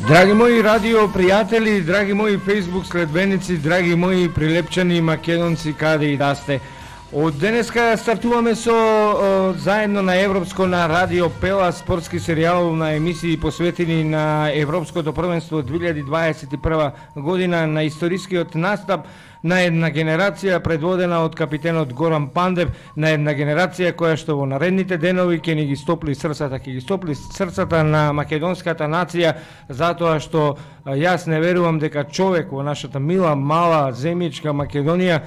Драги мои радио пријатели, драги мои Facebook следбеници, драги мои прилепчани македонци каде и да сте. Од денеска стартуваме со заедно на Европско на Радио Пела спортски серијал на емисии посветени на Европското првенство 2021 година, на историскиот настап на една генерација предводена од капитенот Горан Пандев, на една генерација која што во наредните денови ќе ни ги стопли срцата на македонската нација, затоа што јас не верувам дека човек во нашата мила, мала земјичка Македонија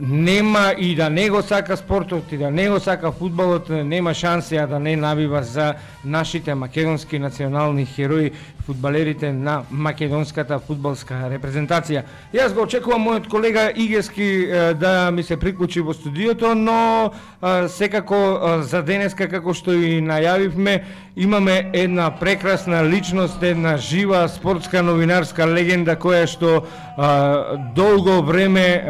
нема и да не го сака спортот и да не го сака фудбалот, нема шанси да не навива за нашите македонски национални херои, фудбалерите на македонската фудбалска репрезентација. Јас го очекувам мојот колега Игески да ми се приклучи во студиото, но секако за денеска, како што и најавивме, имаме една прекрасна личност, една жива спортска новинарска легенда која што долго време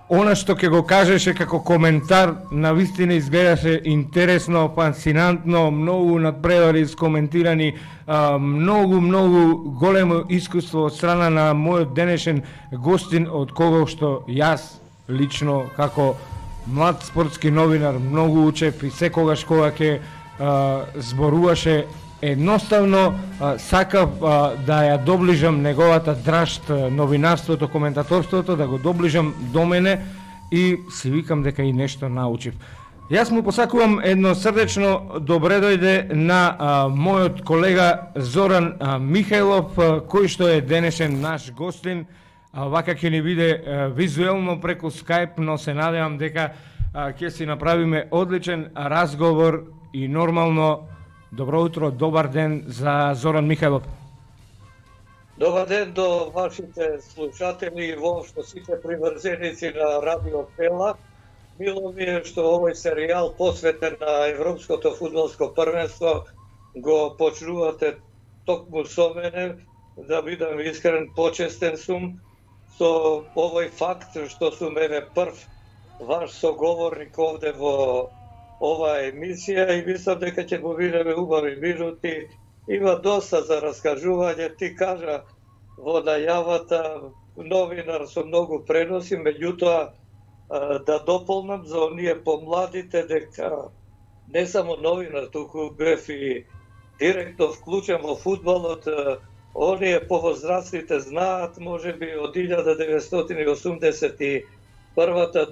она што ќе го кажеше како коментар на вистина изгледаше интересно, фасцинантно, многу надпревари искоментирани, многу големо искуство од страна на мојот денешен гостин, од кого што јас лично како млад спортски новинар многу учев и секогаш кога ќе зборуваше едноставно сакав да ја доближам неговата драшт, новинарството, коментаторството, да го доближам до мене и си викам дека и нешто научив. Јас му посакувам едно срдечно добре дојде на мојот колега Зоран Михајлов, кој што е денешен наш гостин. Вака ќе ни биде визуелно преку Skype, но се надевам дека ќе си направиме одличен разговор и нормално. Добро утро, добар ден за Зоран Михајлов. Добар ден до вашите слушатели и воопшто сите приврзеници на Радио Пела. Мило ми е што овој серијал посветен на Европското фудбалско првенство го почнувате токму со мене. Да бидам искрен, почестен сум со овој факт што сум еве прв ваш соговорник овде во оваа емисија и мислам дека ќе го видиме убави минути. Има доста за раскажување. Ти кажа во најавата, новинар со многу преноси, меѓутоа да дополнам за оние помладите дека не само новинар, туку бев и директно вклучен во фудбалот. Оние повозрастните знаат, можеби од 1981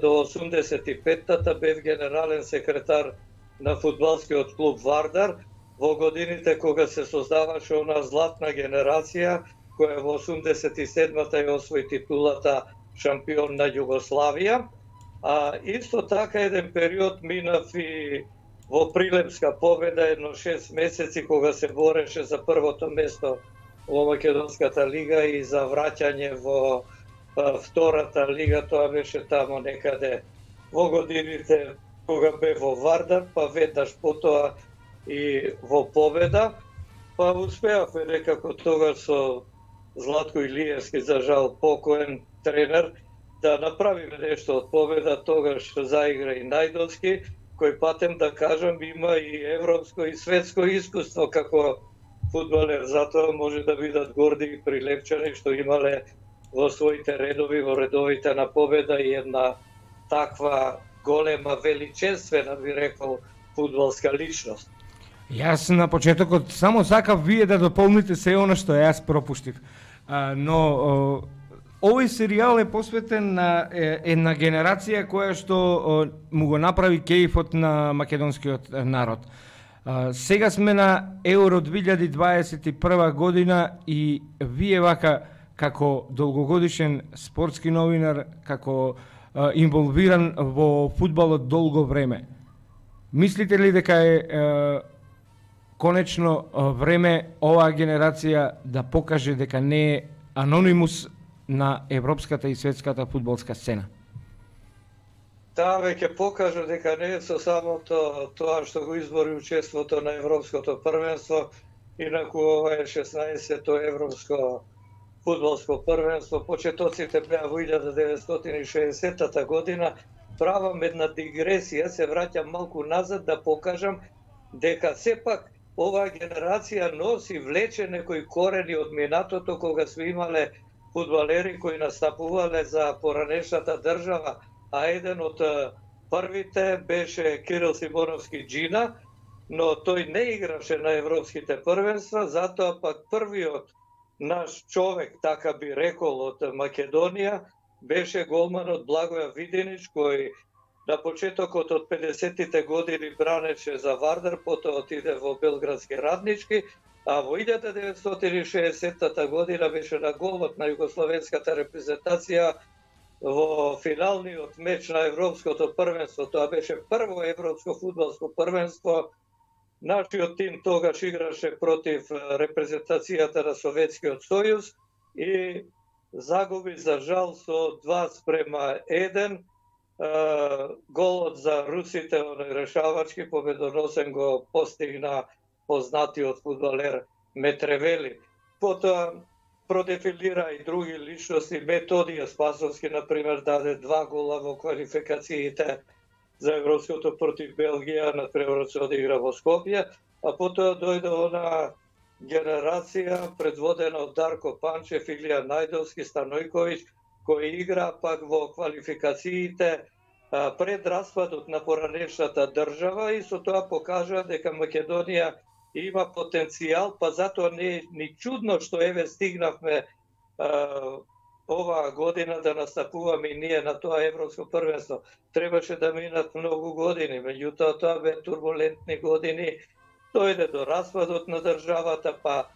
до 85-та бев генерален секретар на фудбалскиот клуб Вардар во годините кога се создаваше она златна генерација која во 87-та ја освои титулата шампион на Југославија. А исто така еден период минав и во Прилепска победа едно 6 месеци кога се бореше за првото место во Македонската лига и за враќање во втората лига. Тоа беше тамо некаде во годините кога бе во Вардар, па веднаш потоа и во Победа. Па успеавме некако тогаш со Златко Илиевски, за жал покоен тренер, да направиме нешто од Победа. Тогаш заигра и Најдовски, кој патем да кажам има и европско и светско искуство како фудбалер. Затоа може да бидат горди и прилепчани што имале во своите редови, во редовите на Победа и една таква голема, величествена, би рекол, фудбалска личност. Јас на почетокот само сакав вие да дополните се оно што јас пропуштив. Но овој серијал е посветен на една генерација која што му го направи кејфот на македонскиот народ. Сега сме на Евро 2021 година и вие вака како долгогодишен спортски новинар, како инволвиран во фудбалот долго време, мислите ли дека е конечно време оваа генерација да покаже дека не е анонимус на европската и светската фудбалска сцена? Таа веќе покажа дека не е со самото тоа што го избори учеството на Европското првенство, инаку ова е 16-то европско фудбалско првенство. Почетоците беа во 1960 година. Правам една дигресија, се враќам малку назад да покажам дека сепак оваа генерација носи влече некои корени од минатото кога сме имале фудбалери кои настапувале за поранешната држава, а еден од првите беше Кирил Симоновски Джина, но тој не играше на европските првенства, затоа пак првиот наш човек, така би рекол, од Македонија, беше голманот Благоја Видинич, кој на почетокот од 50-тите години бранеше за Вардар, потоа отиде во Белградски Раднички, а во 1960 година беше на голот на југословенската репрезентација во финалниот меч на европското првенство. Тоа беше прво европско фудбалско првенство. Нашиот тим тогаш играше против репрезентацијата на Советскиот сојуз и загуби за жал со 2:1. Голот за русите, решавачки победоносен го постигна познатиот фудбалер Метревели. Потоа продефилира и други личности. Методија Спасовски, например, даде 2 гола во квалификациите за европското против Белгија, например, се одигра во Скопје, а потоа дојде она генерација предводена од Дарко Панчев, Илија Најдовски, Станојковиќ, кои игра пак во квалификациите пред распадот на поранешната држава и со тоа покажа дека Македонија има потенцијал, па затоа не е ни чудно што еве стигнавме оваа година да настапуваме и ние на тоа европско првенство. Требаше да минат многу години, меѓутоа тоа бе турбулентни години, дојде до распадот на државата, па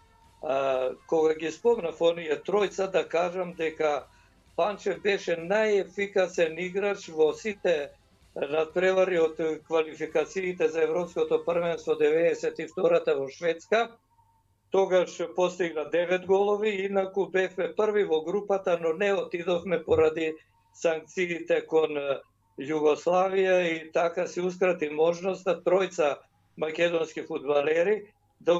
кога ги спомнав оние тројца, да кажам дека Панчев беше најефикасен играч во сите надпревари од квалификациите за европското првенство 92-та во Шведска. Тогаш постигна 9 голови, инаку бевме први во групата, но не отидовме поради санкциите кон Југославија и така се ускрати можноста тројца македонски фудбалери да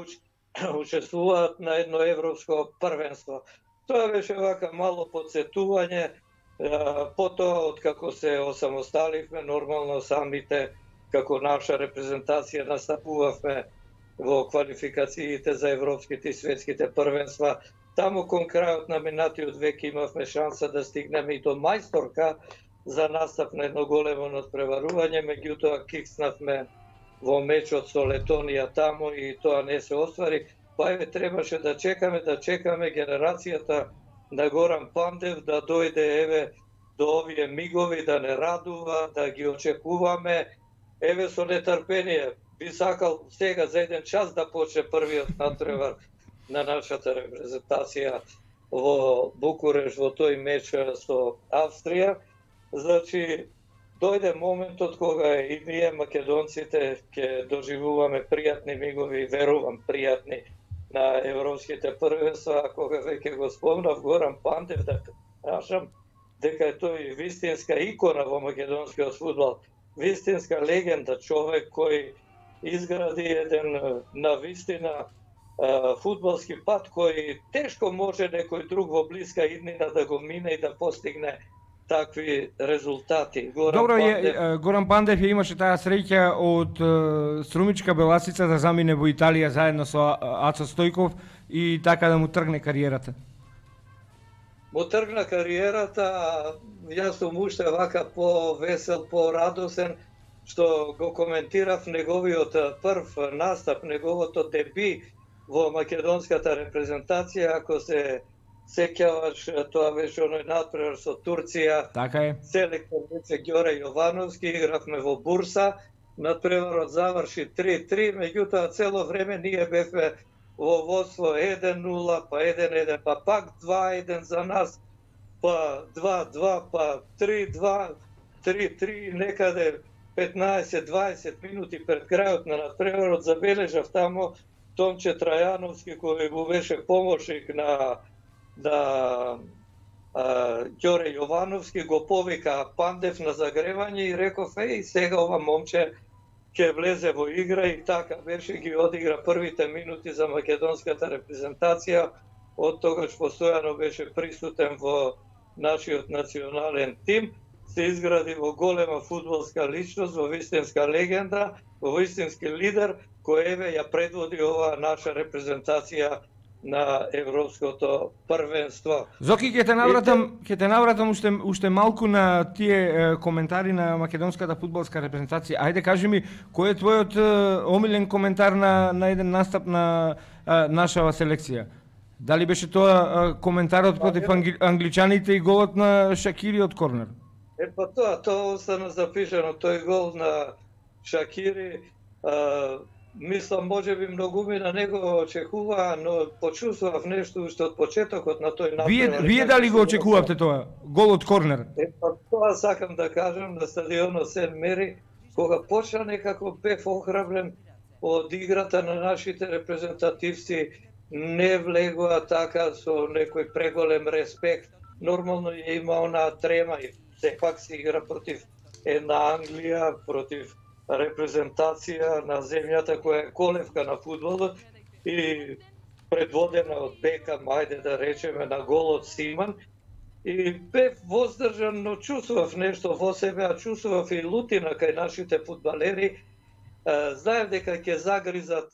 учествуваат на едно европско првенство. Тоа беше вака мало подсетување, потоа откако се осамосталивме, нормално самите како наша репрезентација настапувавме во квалификациите за европските и светските првенства. Таму кон крајот на минатиот век имавме шанса да стигнеме и до мајсторка за настап на едно големо надпреварување, меѓутоа кикснавме во мечот со Летонија таму и тоа не се оствари. Па еве требаше да чекаме генерацијата на Горан Пандев да дојде еве до овие мигови, да не радува, да ги очекуваме. Еве со нетрпение би сакал сега за 1 час да почне првиот надпревар на нашата репрезентација во Букуреш во тој меч со Австрија. Значи, дојде моментот кога и ние македонците ќе доживуваме пријатни мигови, верувам пријатни, на европските првенства, кога веќе го спомнав Горан Пандев, да кажам дека е тој вистинска икона во македонскиот фудбал, вистинска легенда, човек кој изгради еден навистина фудбалски пат кој тешко може некој друг во блиска иднина да го мине и да постигне такви резултати. Горан Пандев имаше таа среќа од Струмичка Беласица да замине во Италија заедно со Ацо Стојков и така да му тргне кариерата. Му тргна кариерата, јас сум уште вака по-весел, по-радосен, што го коментирав неговиот прв настап, неговото деби во македонската репрезентација, ако се сеќаваш, тоа беше оној надпревар со Турција. Така е. Селектор беше Ѓоре Јовановски, игравме во Бурса, надпреварот заврши 3-3, меѓутоа цело време ние бевме во водство 1-0, па 1-1, па пак 2-1 за нас, па 2-2, па 3-2, 3-3, некаде 15-20 минути пред крајот на надпреварот забележав тамо Томче Трајановски, кој му беше помошник на Ѓоре Јовановски, го повика Пандев на загревање и реков, сега ова момче ќе влезе во игра и така беше, ги одигра првите минути за македонската репрезентација, од тогаш постојано беше присутен во нашиот национален тим. се изгради во голема фудбалска личност, во вистинска легенда, во вистински лидер, кој еве ја предводи оваа наша репрезентација на европското првенство. Зоки, ќе те навратам уште малку на тие коментари на македонската фудбалска репрезентација. Ајде кажи ми, кој е твојот омилен коментар на еден настап на нашава селекција? Дали беше тоа коментарот против англичаните и голот на Шакири од корнер? Па тоа остана запишано, тој гол на Шакири, мислам, може би многуми на него очекуваа, но почувствував нешто уште од почетокот на тој напред. Вие дали го очекувавте тоа? Гол од корнер? Па тоа сакам да кажам на стадионот Сен Мери, кога почна некако бев охрабрен од играта на нашите репрезентативци, не влегува така со некој преголем респект. Нормално има онаа трема и сепак се игра против една Англија, против репрезентација на земјата која е колевка на фудбалот и предводена од Бекам, ајде да речеме, на голот Симан. И бев воздржан, но чувствував нешто во себе, а чувствував и лутина кај нашите фудбалери. Знаев дека ќе загризат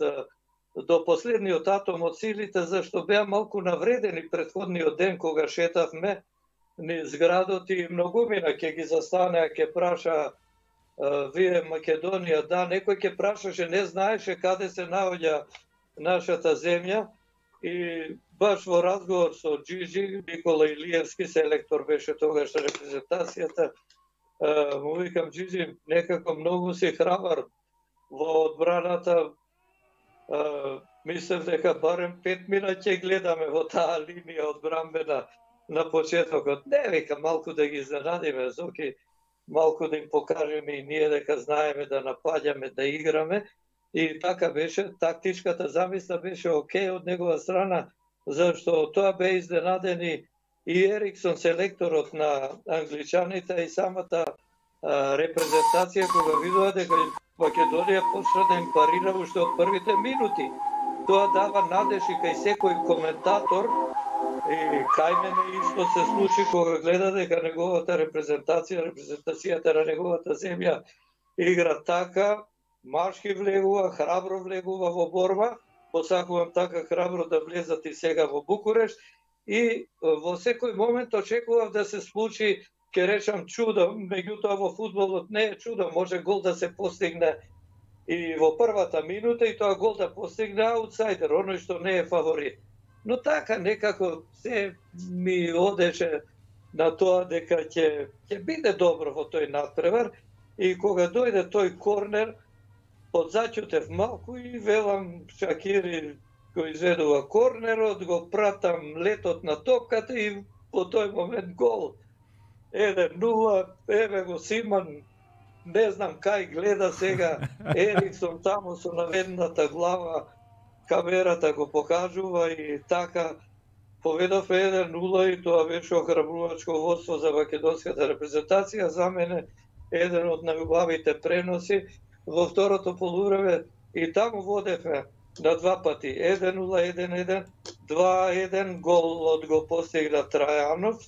до последниот атом од силите, зашто беа малку навредени претходниот ден кога шетавме низ градот и многумина ќе ги застанеа, ќе праша вие Македонија, да, некој ќе прашаше, не знаеше каде се наоѓа нашата земја и баш во разговор со Джиджи, Никола Илиевски, селектор беше тогаш репрезентацијата, му викам, Джиджи, некако многу си храбар во одбраната, мислев дека барем 5 минути ќе гледаме во таа линија одбранбена на почетокот. Не, вика, малку да ги изненадиме, Зоки, малку да им покажеме и ние дека знаеме да напаѓаме, да играме. И така беше, тактичката замисла беше окей од негова страна, зашто тоа бе изненадени и Ериксон, селекторот на англичаните и самата репрезентација, кога видува дека Македонија почна да им парира уште од првите минути. Тоа дава надеж и кај секој коментатор и кај мене исто се случи кога гледа дека неговата репрезентацијата на неговата земја игра така, машки влегува, храбро влегува во борба, посакувам така храбро да влезат и сега во Букурешт и во секој момент очекував да се случи, ќе речам, чудо, меѓутоа во фудбалот не е чудо, може гол да се постигне и во првата минута и тоа гол да постигне аутсайдер, оној што не е фаворит. Но така некако се ми одеше на тоа дека ќе биде добро во тој надпревар и кога дојде тој корнер, подзаќутев малку и велам Шакири кој изведува корнерот, го пратам летот на топката и по тој момент гол. 1-0, еве го Симан, не знам кај гледа сега, Ериксон таму со наведната глава, камерата го покажува и така поведов 1-0 и тоа беше охрабрувачко водство за македонската репрезентација. За мене еден од најубавите преноси во второто полувреме и таму водевме на два пати. 1-0, 1-1, 2-1, голот го постигна Трајанов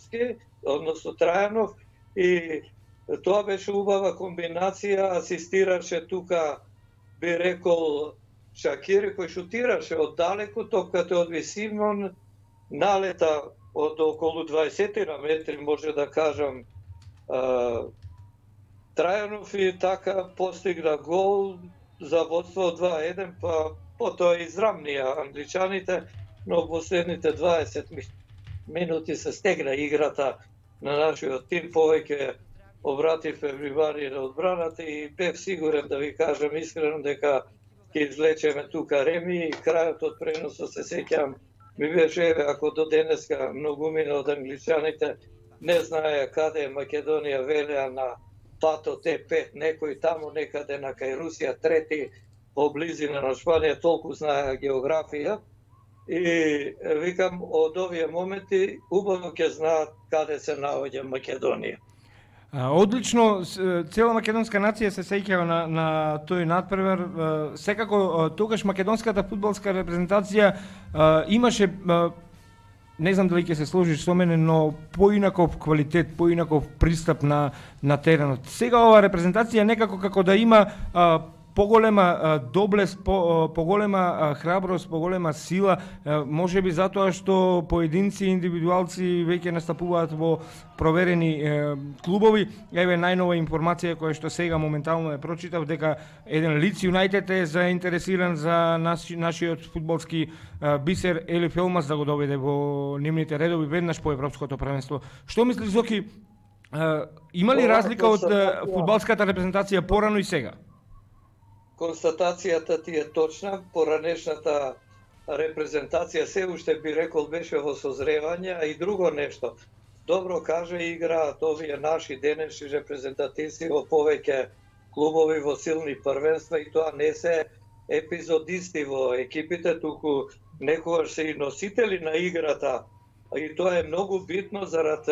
и тоа беше убава комбинација, асистираше тука, би рекол, Шакири кој шутираше од далеку, топката од Симон налета од околу 20 метри, може да кажам, Трајанов и така постигна гол за водство 2-1, па потоа израмнија англичаните, но во последните 20 минути се стегна играта на нашиот тим, повеќе обратив внимание на одбраната и бев сигурен, да ви кажам искрено, дека ќе извлечеме тука реми и крајот од преносот се сеќавам ми беше, ако до денеска многумина од англичаните не знаеа каде е Македонија, велеа на патот Е5, некој таму некаде на кај Русија, трети во близина на Шпанија, толку знаеа географија и викам од овие моменти убаво ќе знаат каде се наоѓа Македонија. Одлично, цела македонска нација се сеќава на тој надпревар. Секако тогаш македонската фудбалска репрезентација имаше не знам дали ќе се сложиш со мене, но поинаков квалитет, поинаков пристап на теренот. Сега ова репрезентација некако како да има поголема доблест, поголема храброст, поголема сила, можеби затоа што поединци и индивидуалци веќе настапуваат во проверени клубови. Еве најнова информација која што сега моментално ја прочитав, дека еден Лиц Юнајтед е заинтересиран за нашиот фудбалски бисер Елиф Елмас да го доведе во нивните редови веднаш по европското првенство. Што мислиш, Зоки, има ли разлика од фудбалската репрезентација порано и сега? Констатацијата ти е точна, поранешната репрезентација се уште би рекол беше во созревање, а и друго нешто. Добро кажа, играат овие наши денешни репрезентативци во повеќе клубови во силни првенства и тоа не се епизодисти во екипите, туку некогаш се и носители на играта. И тоа е многу битно зарад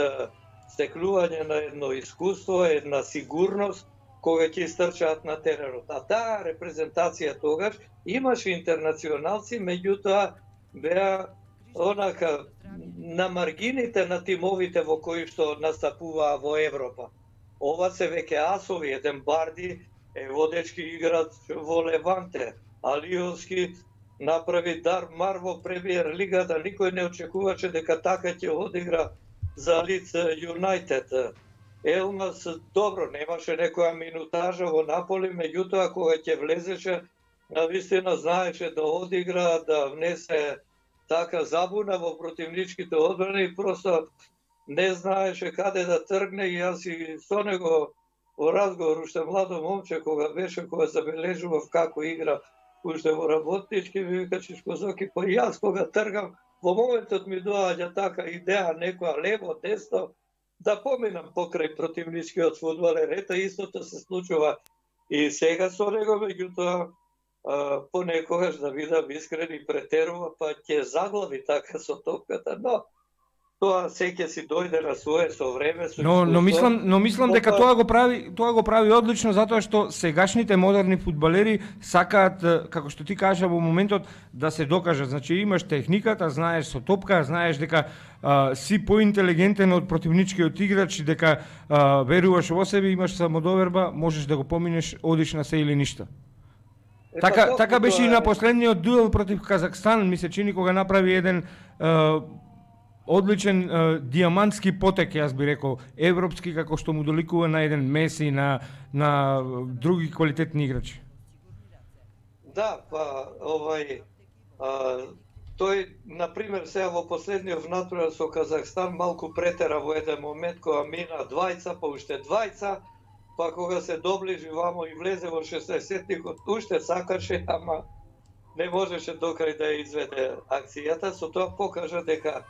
стекнување на едно искуство, една сигурност кога ќе истрчаат на теренот. А таа репрезентација тогаш имаше интернационалци, меѓутоа беа онака на маргините на тимовите во кои што настапуваа во Европа. Ова се веќе асови, еден Барди е водечки играч во Леванте, Алиовски направи дар мар во премиер лигата, никој не очекуваше дека така ќе одигра за Лиц Юнајтед. Елмас добро, немаше некоја минутажа во Наполи, меѓутоа кога ќе влезеше, навистина знаеше да одигра, да внесе така забуна во противничките одбрани и просто не знаеше каде да тргне и јас и со него во разговор, уште младо момче кога беше, кога забележував како игра уште во работнички, ми вика Чичко Зоки, па јас кога тргам, во моментот ми доаѓа така идеја, некоја лево, десно, да поминам покрај противничкиот фудбалер. Ето истото се случува и сега со него, меѓутоа понекогаш, да бидам искрен, и претерува, па ќе заглави така со топката, но тоа секој си дојде на свое со време, со но мислам дека тоа го прави одлично, затоа што сегашните модерни фудбалери сакаат, како што ти кажа во моментот, да се докажат. Значи имаш техниката, знаеш со топка, знаеш дека си поинтелигентен од противничкиот играч, дека веруваш во себе, имаш самодоверба, можеш да го поминеш, одиш на се или ништа. Така беше и на последниот дуел против Казахстан, ми се чини, кога направи еден одличен диамантски потек, јас би рекол, европски, како што му доликува на еден Меси, на други квалитетни играчи. Да, па тој, например, сега во последниот натурал со Казахстан малку претера во еден момент, кога мина двајца, па уште двајца, па кога се доближи вамо и влезе во 60-тикот, уште сакаше, ама не можеше докрај да изведе акцијата, со тоа покажа дека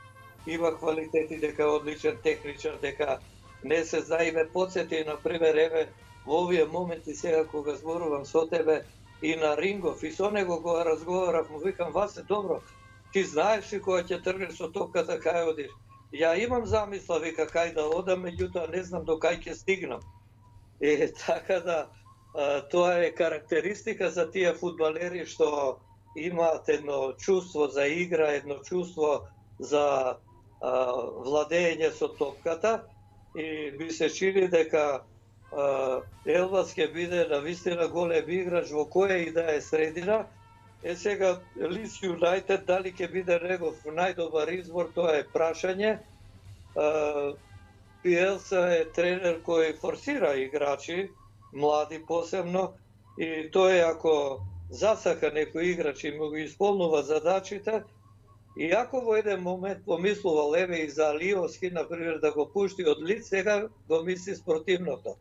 има квалитети, дека е одличен техничар, дека не се знае. Ме подсети, например, еве, во овие моменти сега кога зборувам со тебе и на Рингов, и со него кога разговарав, му викам, Васе, добро, ти знаеш ли кога ќе тргнеш со топката, кај одиш? Ја имам замисла, вика, кај да одам, меѓутоа не знам до кај ќе стигнам. И така да, тоа е карактеристика за тие фудбалери што имаат едно чувство за игра, едно чувство за владење со топката, и би се чини дека Елмас ќе биде навистина голем играч во која и да е средина. Сега Лиц Юнајтед дали ќе биде негов најдобар избор, тоа е прашање. Биелса е тренер кој форсира играчи, млади посебно, и тој ако засака некој играч и му го исполнува задачите, и ако во еден момент помислува леве и за Алиовски, например, да го пушти од Лиц, сега го мисли спротивното.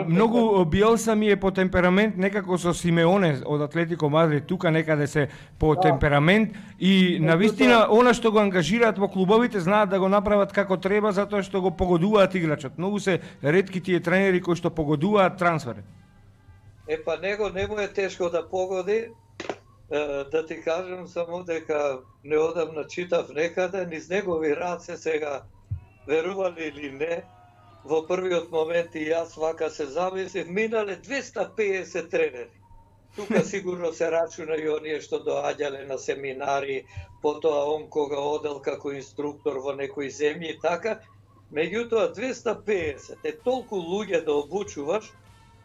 Многу Биелса ми е по темперамент, некако со Симеоне од Атлетико Мадрид, тука некаде се по темперамент, и навистина она што го ангажираат во клубовите знаат да го направат како треба, затоа што го погодуваат играчот. Многу се ретки тие тренери кои што погодуваат трансфери. Па него не му е тешко да погоди. Да ти кажам само дека неодамна читав некаде, низ негови раце сега, верували или не, во првиот момент и јас вака се замислив, минале 250 тренери. тука сигурно се рачуна и оние што доаѓале на семинари, потоа он кога одел како инструктор во некои земји и така. Меѓутоа 250 е толку луѓе да обучуваш,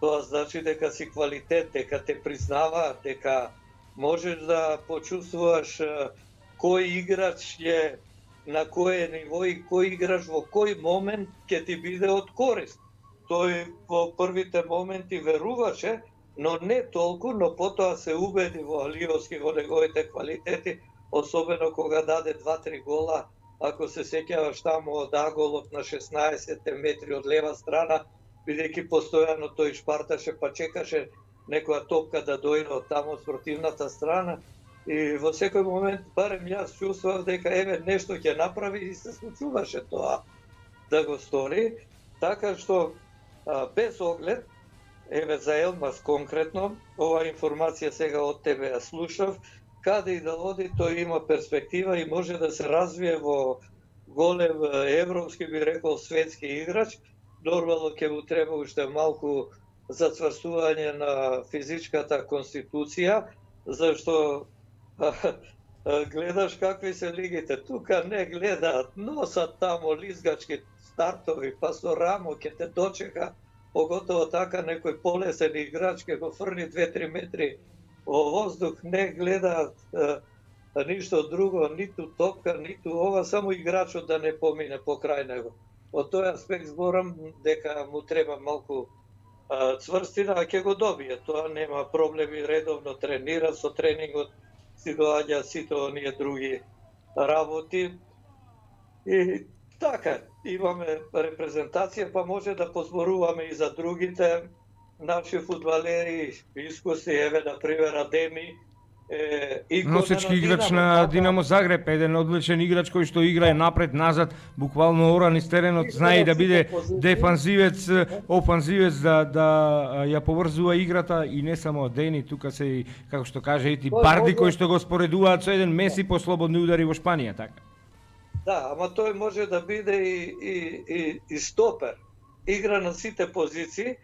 тоа значи дека си квалитет, дека те признаваат, дека можеш да почувствуваш кој играч е на кое ниво и кој играч во кој момент ќе ти биде од корист. Тој во првите моменти веруваше, но не толку, но потоа се убеди во Алиовски во неговите квалитети, особено кога даде 2-3 гола, ако се сеќаваш таму од аголот на 16 метри од лева страна, бидејќи постојано тој шпарташе па чекаше некоја топка да дојде од таму од спротивната страна. И во секој момент, барем јас чувствував дека еве нешто ќе направи и се случуваше тоа да го стори. Така што без оглед, еве за Елмаз конкретно, ова информација сега од тебе ја слушав, каде и да оди тој има перспектива и може да се развие во голем европски, би рекол, светски играч. Нормално ќе му треба уште малку зацврстување на физичката конституција, зашто гледаш какви се лигите. Тука не гледаат, носат тамо лизгачки стартови, па со рамо ќе те дочека, поготово така некој полесен играч ќе го фрли 2-3 метри во воздух, не гледаат ништо друго, ниту топка, ниту ова, само играчот да не помине покрај него. Од тој аспект зборам дека му треба малку цврстина, а ќе го добие. Тоа нема проблеми, редовно тренира, со тренингот си доаѓа сите оние други работи. И така, имаме репрезентација, па може да позборуваме и за другите наши фудбалери, искусни, еве, например, Адеми, носечки играч на Динамо Загреб, еден одличен играч кој што играе напред-назад, буквално оран из теренот, знае да биде дефанзивец, офанзивец, да ја поврзува играта и не само Дени, тука се и, како што каже, и Барди кои што го споредуваат со еден Меси по слободни удари во Шпанија, така. Да, ама тој може да биде и стопер. Игра на сите позиции,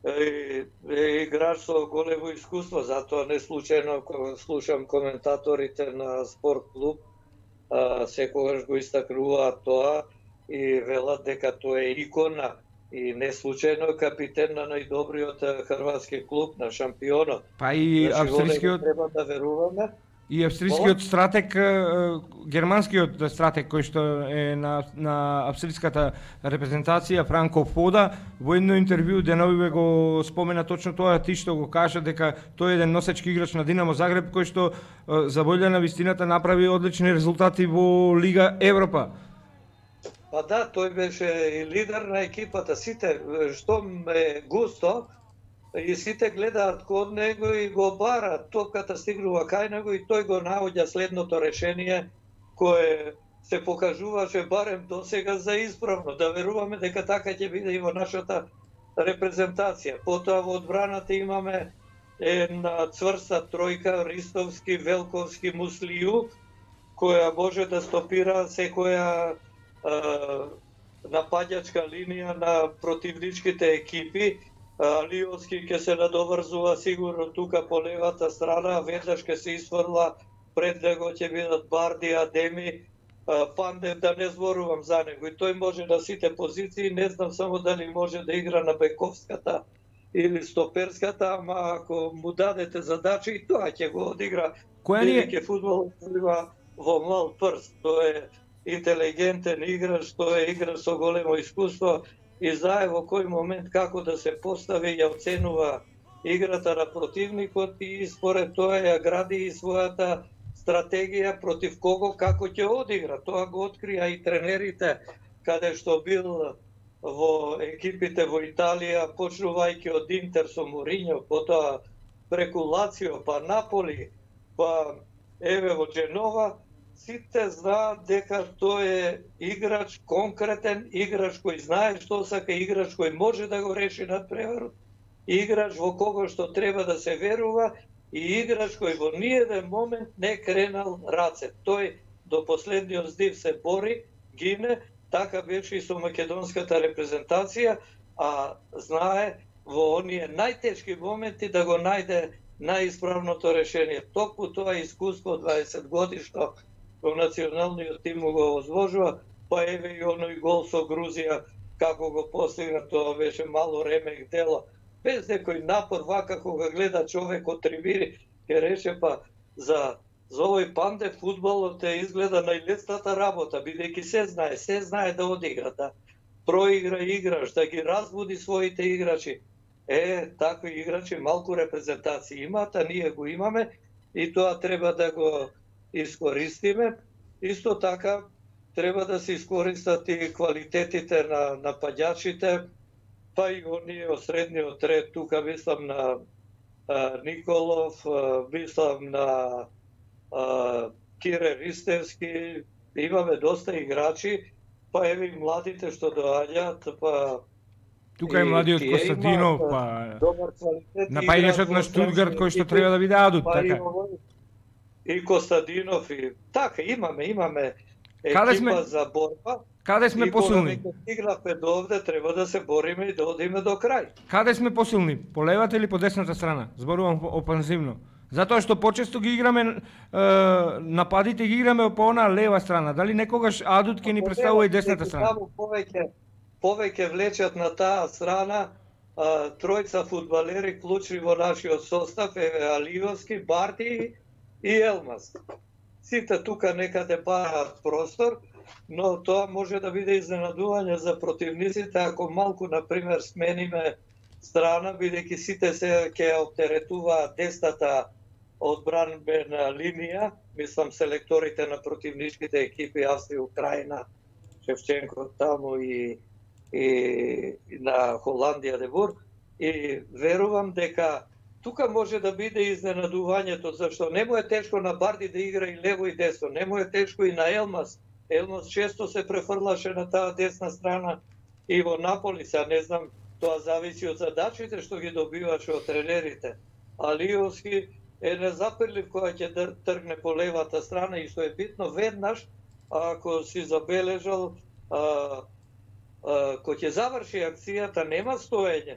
играч со големо искуство, затоа не случајно кога слушам коментаторите на спорт клуб, секогаш го истакнуваат тоа и велат дека тоа е икона и не случајно капитен на најдобриот хрватски клуб, на шампионот. Па и австрискиот треба да веруваме. И австрискиот стратег, германскиот стратег кој што е на австриската репрезентација, Франко Фода, во едно интервју деновиве го спомена точно тоа, ти што го кажа дека тој е еден носечки играч на Динамо Загреб кој што за волја на вистината направи одлични резултати во Лига Европа. Па да, тој беше и лидер на екипата, сите што ме густо, и сите гледаат код него и го бараат, топката стигнува кај него и тој го наоѓа следното решение кое се покажуваше барем до сега за исправно. Да веруваме дека така ќе биде и во нашата репрезентација. Потоа во одбраната имаме една цврста тројка, Ристовски, Велковски, Муслију, која може да стопира секоја напаѓачка линија на противничките екипи. Алиовски ќе се надоврзува сигурно тука по левата страна, веднаш ќе се исфрла, пред него ќе бидат Барди, Адеми, Пандев, да не зборувам за него. И тој може на сите позиции, не знам само дали може да игра на бековската или стоперската, ама ако му дадете задача и тоа ќе го одигра. Велики фудбал во мал прст. Тој е интелигентен играч, тој е играч со големо искуство и знае во кој момент како да се постави, ја оценува играта на противникот и според тоа ја гради и својата стратегија против кого како ќе одигра. Тоа го открија и тренерите каде што бил во екипите во Италија, почнувајќи од Интер со Мориньо, потоа преку Лацио, па Наполи, па еве во Дженова. Сите знаат дека тој е играч конкретен, играч кој знае што сака, играч кој може да го реши надпреварот, играч во кого што треба да се верува и играч кој во ниеден момент не кренал раце. Тој до последниот здив се бори, гине, така беше и со македонската репрезентација, а знае во оние најтешки моменти да го најде најисправното решение. Токму тоа искуство 20 годишно во националниот тим го возможува, па еве и оној гол со Грузија, како го постигна, тоа беше мало ремек дело. Без некој напор, вака кога гледа човек од трибини, ќе рече па за овој панде фудбалот изгледа најлесната работа, бидејќи се знае да одигра, да проигра играш, да ги разбуди своите играчи. Такви играчи малку репрезентации имаат, а ние го имаме и тоа треба да го искористиме. Исто така треба да се искористат и квалитетите на нападјачите, па и оние од средниот ред, тука мислам на Николов, мислам на Кире Ристевски, имаме доста играчи, па еве и младите што доаѓаат, па тука е младиот Костадинов, па напаѓачот на Штутгарт кој што треба да биде адут, така. И Костадинов и така имаме екипа за борба. Каде сме посилни? И кога стигнавме до овде, треба да се бориме и да одиме до крај. Каде сме посилни? По левата или по десната страна? Зборувам опанзивно. Затоа што почесто ги играме нападите ги играме по она лева страна. Дали некогаш адут ќе ни представува и десната страна? Повеќе влечат на таа страна тројца фудбалери клучни во нашиот состав, еве Алиовски, Барти и Елмас. Сите тука некаде бараат простор, но тоа може да биде изненадување за противниците ако малку, например, смениме страна, бидејќи сите се ќе оптеретуваат десната одбранбена линија, мислам селекторите на противничките екипи Австрија, Украина, Шевченко таму и на Холандија Дебур, и верувам дека тука може да биде изненадувањето, зашто не му е тешко на Барди да игра и лево и десно, не му е тешко и на Елмас. Елмас често се префрлаше на таа десна страна и во Наполи, сега не знам, тоа зависи од задачите што ги добиваше од тренерите. Алиовски е незапирлив кога ќе тргне по левата страна и што е битно веднаш, ако си забележал, кога ќе заврши акцијата нема стоење.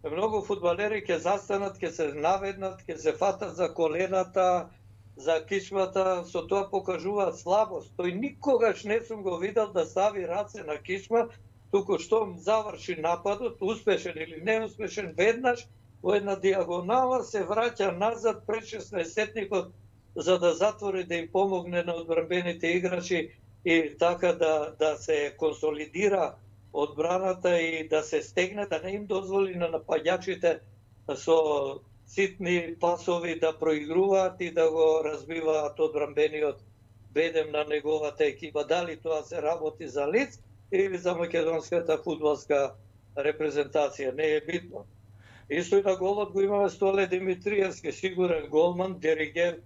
Многу фудбалери ќе застанат, ќе се наведнат, ќе се фатат за колената, за кичмата, со тоа покажуваат слабост. Тој никогаш не сум го видел да стави раце на кичма, туку што заврши нападот, успешен или неуспешен, веднаш во една диагонала се враќа назад пред 16-сетникот за да затвори, да им помогне на одбранбените играчи и така да се консолидира одбраната и да се стегне, да не им дозволи на напаѓачите со ситни пасови да проигруваат и да го разбиваат одбранбениот бедем на неговата екипа. Дали тоа се работи за Лиц или за македонската фудбалска репрезентација, не е битно. Исто и на голот го имаме Столе Димитриевски, сигурен голман, диригент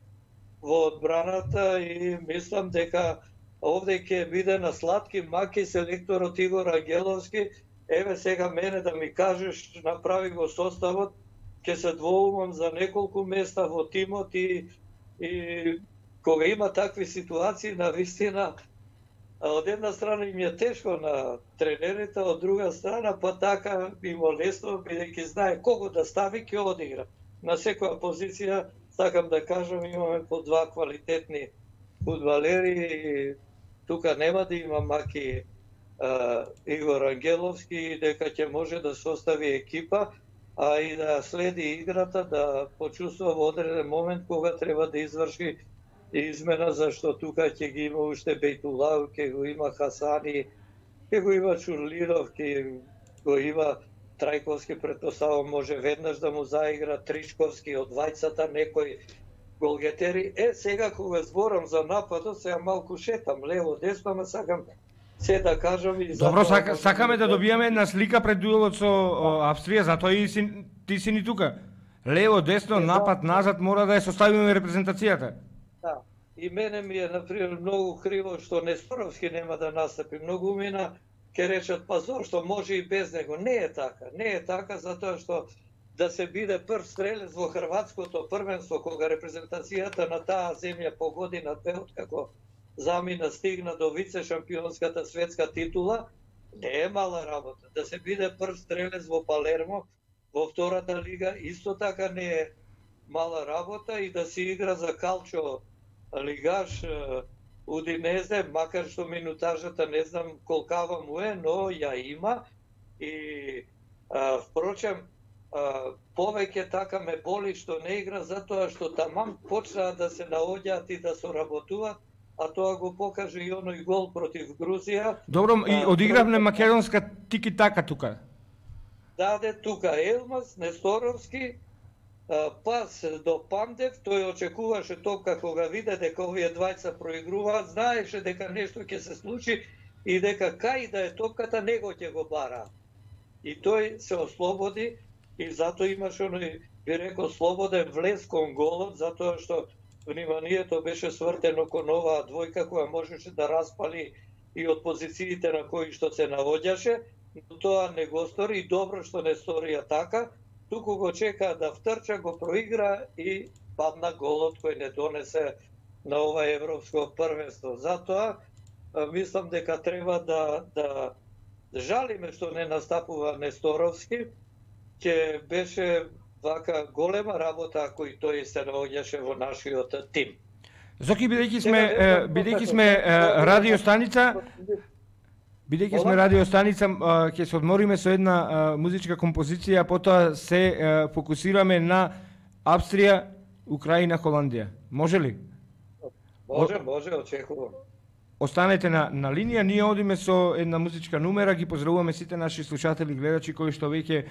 во одбраната и мислам дека овде ќе биде на сладки маки селекторот Игор Ангеловски. Еве сега мене да ми кажеш, направи го составот, ќе се двоумам за неколку места во тимот и кога има такви ситуации, на вистина, од една страна им е тешко на тренерите, од друга страна па така им лесно, бидејќи знае кого да стави, ќе одигра. На секоја позиција, сакам да кажам, имаме по два квалитетни фудбалери и тука нема да има маки Игор Ангеловски и дека ќе може да состави екипа, а и да следи играта, да почувствува во одреден момент кога треба да изврши измена, зашто тука ќе ги има уште Бейтулау, ќе го има Хасани, ќе го има Чурлиров, ќе го има Трајковски, претпоставам може веднаш да му заигра Тричковски од двајцата, некој голгетери. Сега кога зборам за нападот, сега малку шетам лево, десно, ама сакам се да кажам и Добро, сакаме да добиеме една слика пред дуелот со Австрија, затоа и ти си ни тука. Лево, десно, напад, назад, мора да ја составиме репрезентацијата. Да. И мене ми е, например, многу криво што Несторовски нема да настапи. Многу мина ќе речат, па зошто може и без него. Не е така. Не е така, затоа што да се биде прв стрелец во хрватското првенство, кога репрезентацијата на таа земја по година две откако замина стигна до вице-шампионската светска титула, не е мала работа. Да се биде прв стрелец во Палермо, во втората лига, исто така мала работа и да се игра за Калчо лигаш Удинезе, макар што минутажата не знам колкава му е, но ја има. И впрочем, повеќе така ме боли што не игра, затоа што тамам почнаа да се наоѓаат и да соработуваат, а тоа го покаже и оној гол против Грузија. Добро, и одигравме македонска тики-така тука. Даде тука Елмаз, Несторовски, пас до Пандев, тој очекуваше топка кога виде дека овие двајца проигруваат, знаеше дека нешто ќе се случи и дека кај да е топката него ќе го бара. И тој се ослободи и затоа имаше оној, би рекол, слободен влез кон голот, затоа што вниманието беше свртено кон оваа двојка која можеше да распали и од позициите на кои што се наоѓаше, но тоа не го стори и добро што не сторија така, туку го чека да втрча, го проигра и падна голот кој не донесе на ова европско првенство. Затоа мислам дека треба да жалиме што не настапува Несторовски, ќе беше вака голема работа ако и тој се наоѓаше во нашиот тим. Зоки, бидејќи сме радиостаница, ќе се одмориме со една музичка композиција, потоа се фокусираме на Австрија, Украина, Холандија. Може ли? Може, очекувам. Останете на линија, ние одиме со една музичка numera, ги поздравуваме сите наши слушатели, гледачи кои што веќе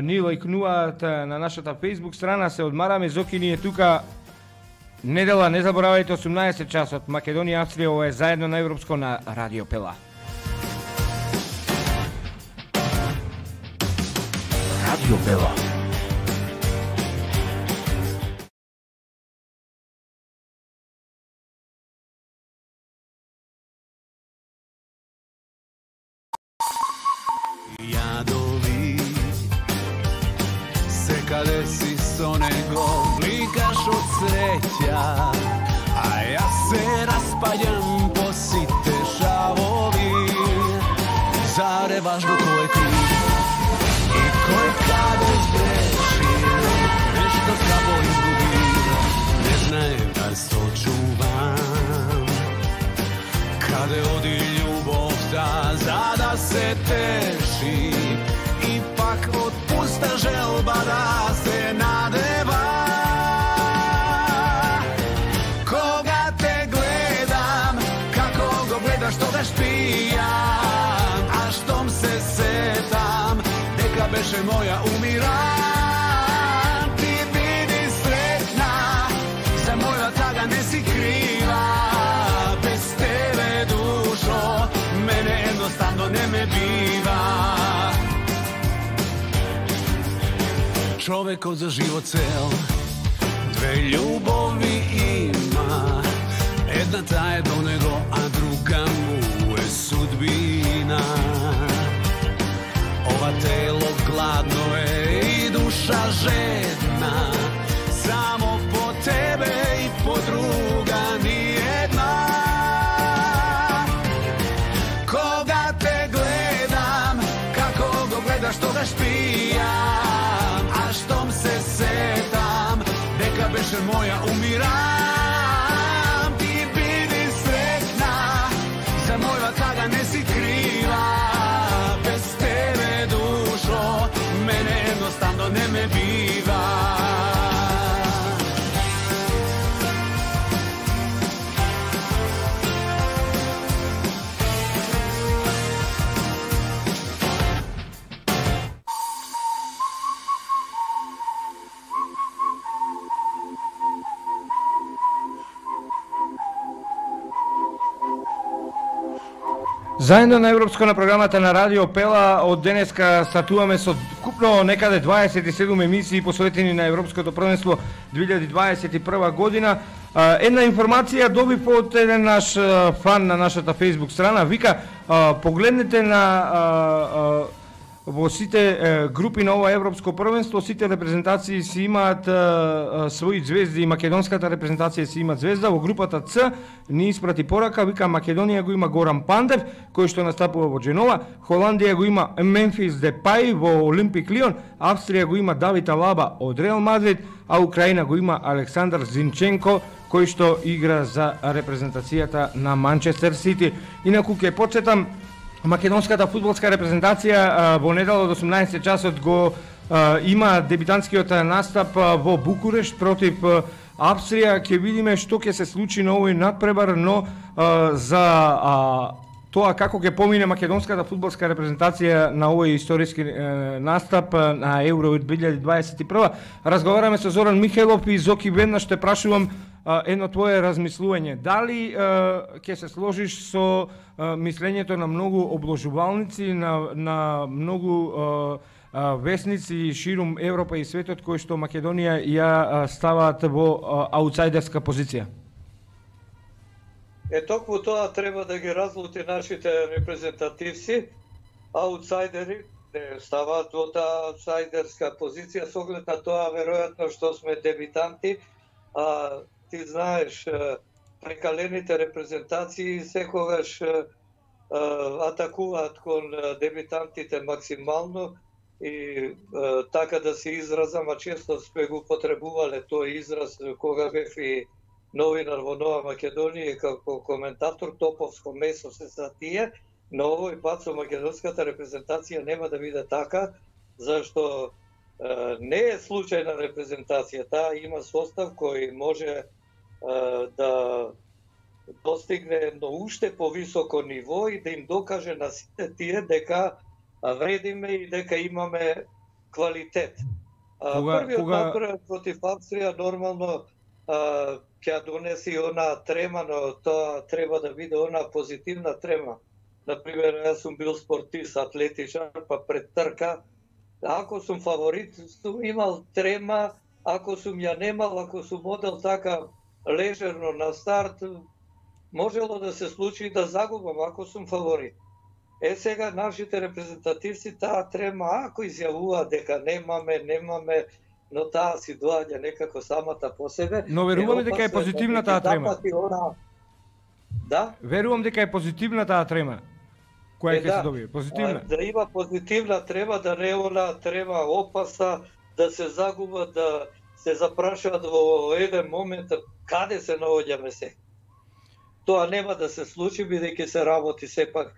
ни лајкнуваат на нашата Facebook страна, се одмараме, Зоки ни е тука недела, не заборавајте 18 часот, Македонија, Австрија, ова е заедно на Европско на Радио Пела. Радио Пела. Јадови, секаде си со него, бликаш од среќа, а јас се распаѓам по сите шавови. Зареваш го кој крив и кој каде сгреши, нешто слабо изгуби, не знаем да сочувам. Каде оди љубовта за да се теши и пак од пуста желба да се надева. Кога те гледам, како го гледаш тогаш пијам, а штом се сетам дека беше моја умирам. Ти биди среќна, за моја тага не си крива, без тебе душо, мене едноставно не ме бива. Човекот за живот цел две љубови има, едната е до него, а друга му е судбина. Ова тело гладно е и душа жедна, само по тебе и по друга ни една. Кога те гледам, како го гледаш тогаш пијам, а штом се сетам дека беше моја умирам. Ти биди среќна, за моја тага не си крива, без тебе душо, мене едноставно не ме бива. Заедно на Европско на програмата на Радио Пела, од денеска стартуваме со купно некаде 27 емисии посветени на Европското првенство 2021 година. Една информација добив од еден наш фан на нашата Facebook страна, вика, погледнете на во сите групи на ова европско првенство, сите репрезентации си имаат своји звезди и македонската репрезентација си има звезда. Во групата Ц ни испрати порака, вика Македонија го има Горан Пандев, кој што настапува во Дженова, Холандија го има Мемфис Депај во Олимпик Лион, Австрија го има Давид Алаба од Реал Мадрид, а Украина го има Александар Зинченко, кој што игра за репрезентацијата на Манчестер Сити. Инаку ќе почетам македонската фудбалска репрезентација во недела од 18 часот го има дебитантскиот настап во Букурешт против Австрија. Ќе видиме што ќе се случи на овој надпревар, но за тоа како ќе помине македонската фудбалска репрезентација на овој историски настап на Евро 2021, разговараме со Зоран Михајлов и Зоки, веднаш те прашувам едно твое размислување. Дали ќе се сложиш со мислењето на многу обложувалници, на многу весници ширум Европа и светот, кои што Македонија ја ставаат во аутсайдерска позиција? Токму тоа треба да ги разлути нашите репрезентативци. Аутсайдери не ставаат во таа аутсайдерска позиција со оглед на тоа веројатно што сме дебитанти, а ти знаеш прекалените репрезентации секогаш атакуваат кон дебитантите максимално и така да се изразам, а често сме го потребувале тој израз кога бев и новинар во Нова Македонија како коментатор, топовско месо се за тие, но овој пат со македонската репрезентација нема да биде така, зашто не е случајна репрезентација, таа има состав кој може да достигне едно уште повисоко ниво и да им докаже на сите тие дека вредиме и дека имаме квалитет. Првиот напред против Австрија нормално ќе донеси она трема, но тоа треба да биде она позитивна трема. Например, јас сум бил спортист, атлетичар, па пред трка, ако сум фаворит, сум имал трема, ако сум ја немал, ако сум одел така лежерно на старт, можело да се случи да загубам ако сум фаворит. Сега нашите репрезентативци таа трема, ако изјавуваат дека немаме, но таа си доаѓа некако самата по себе. Но верувам дека е позитивна таа трема. Да? Верувам дека е позитивна таа трема. Која ќе се добие? Позитивна. Да има позитивна трема, да не она трема опасна, да се загуба, да се запрашаат во еден момент каде се наоѓаме се. Тоа нема да се случи, бидејќи се работи сепак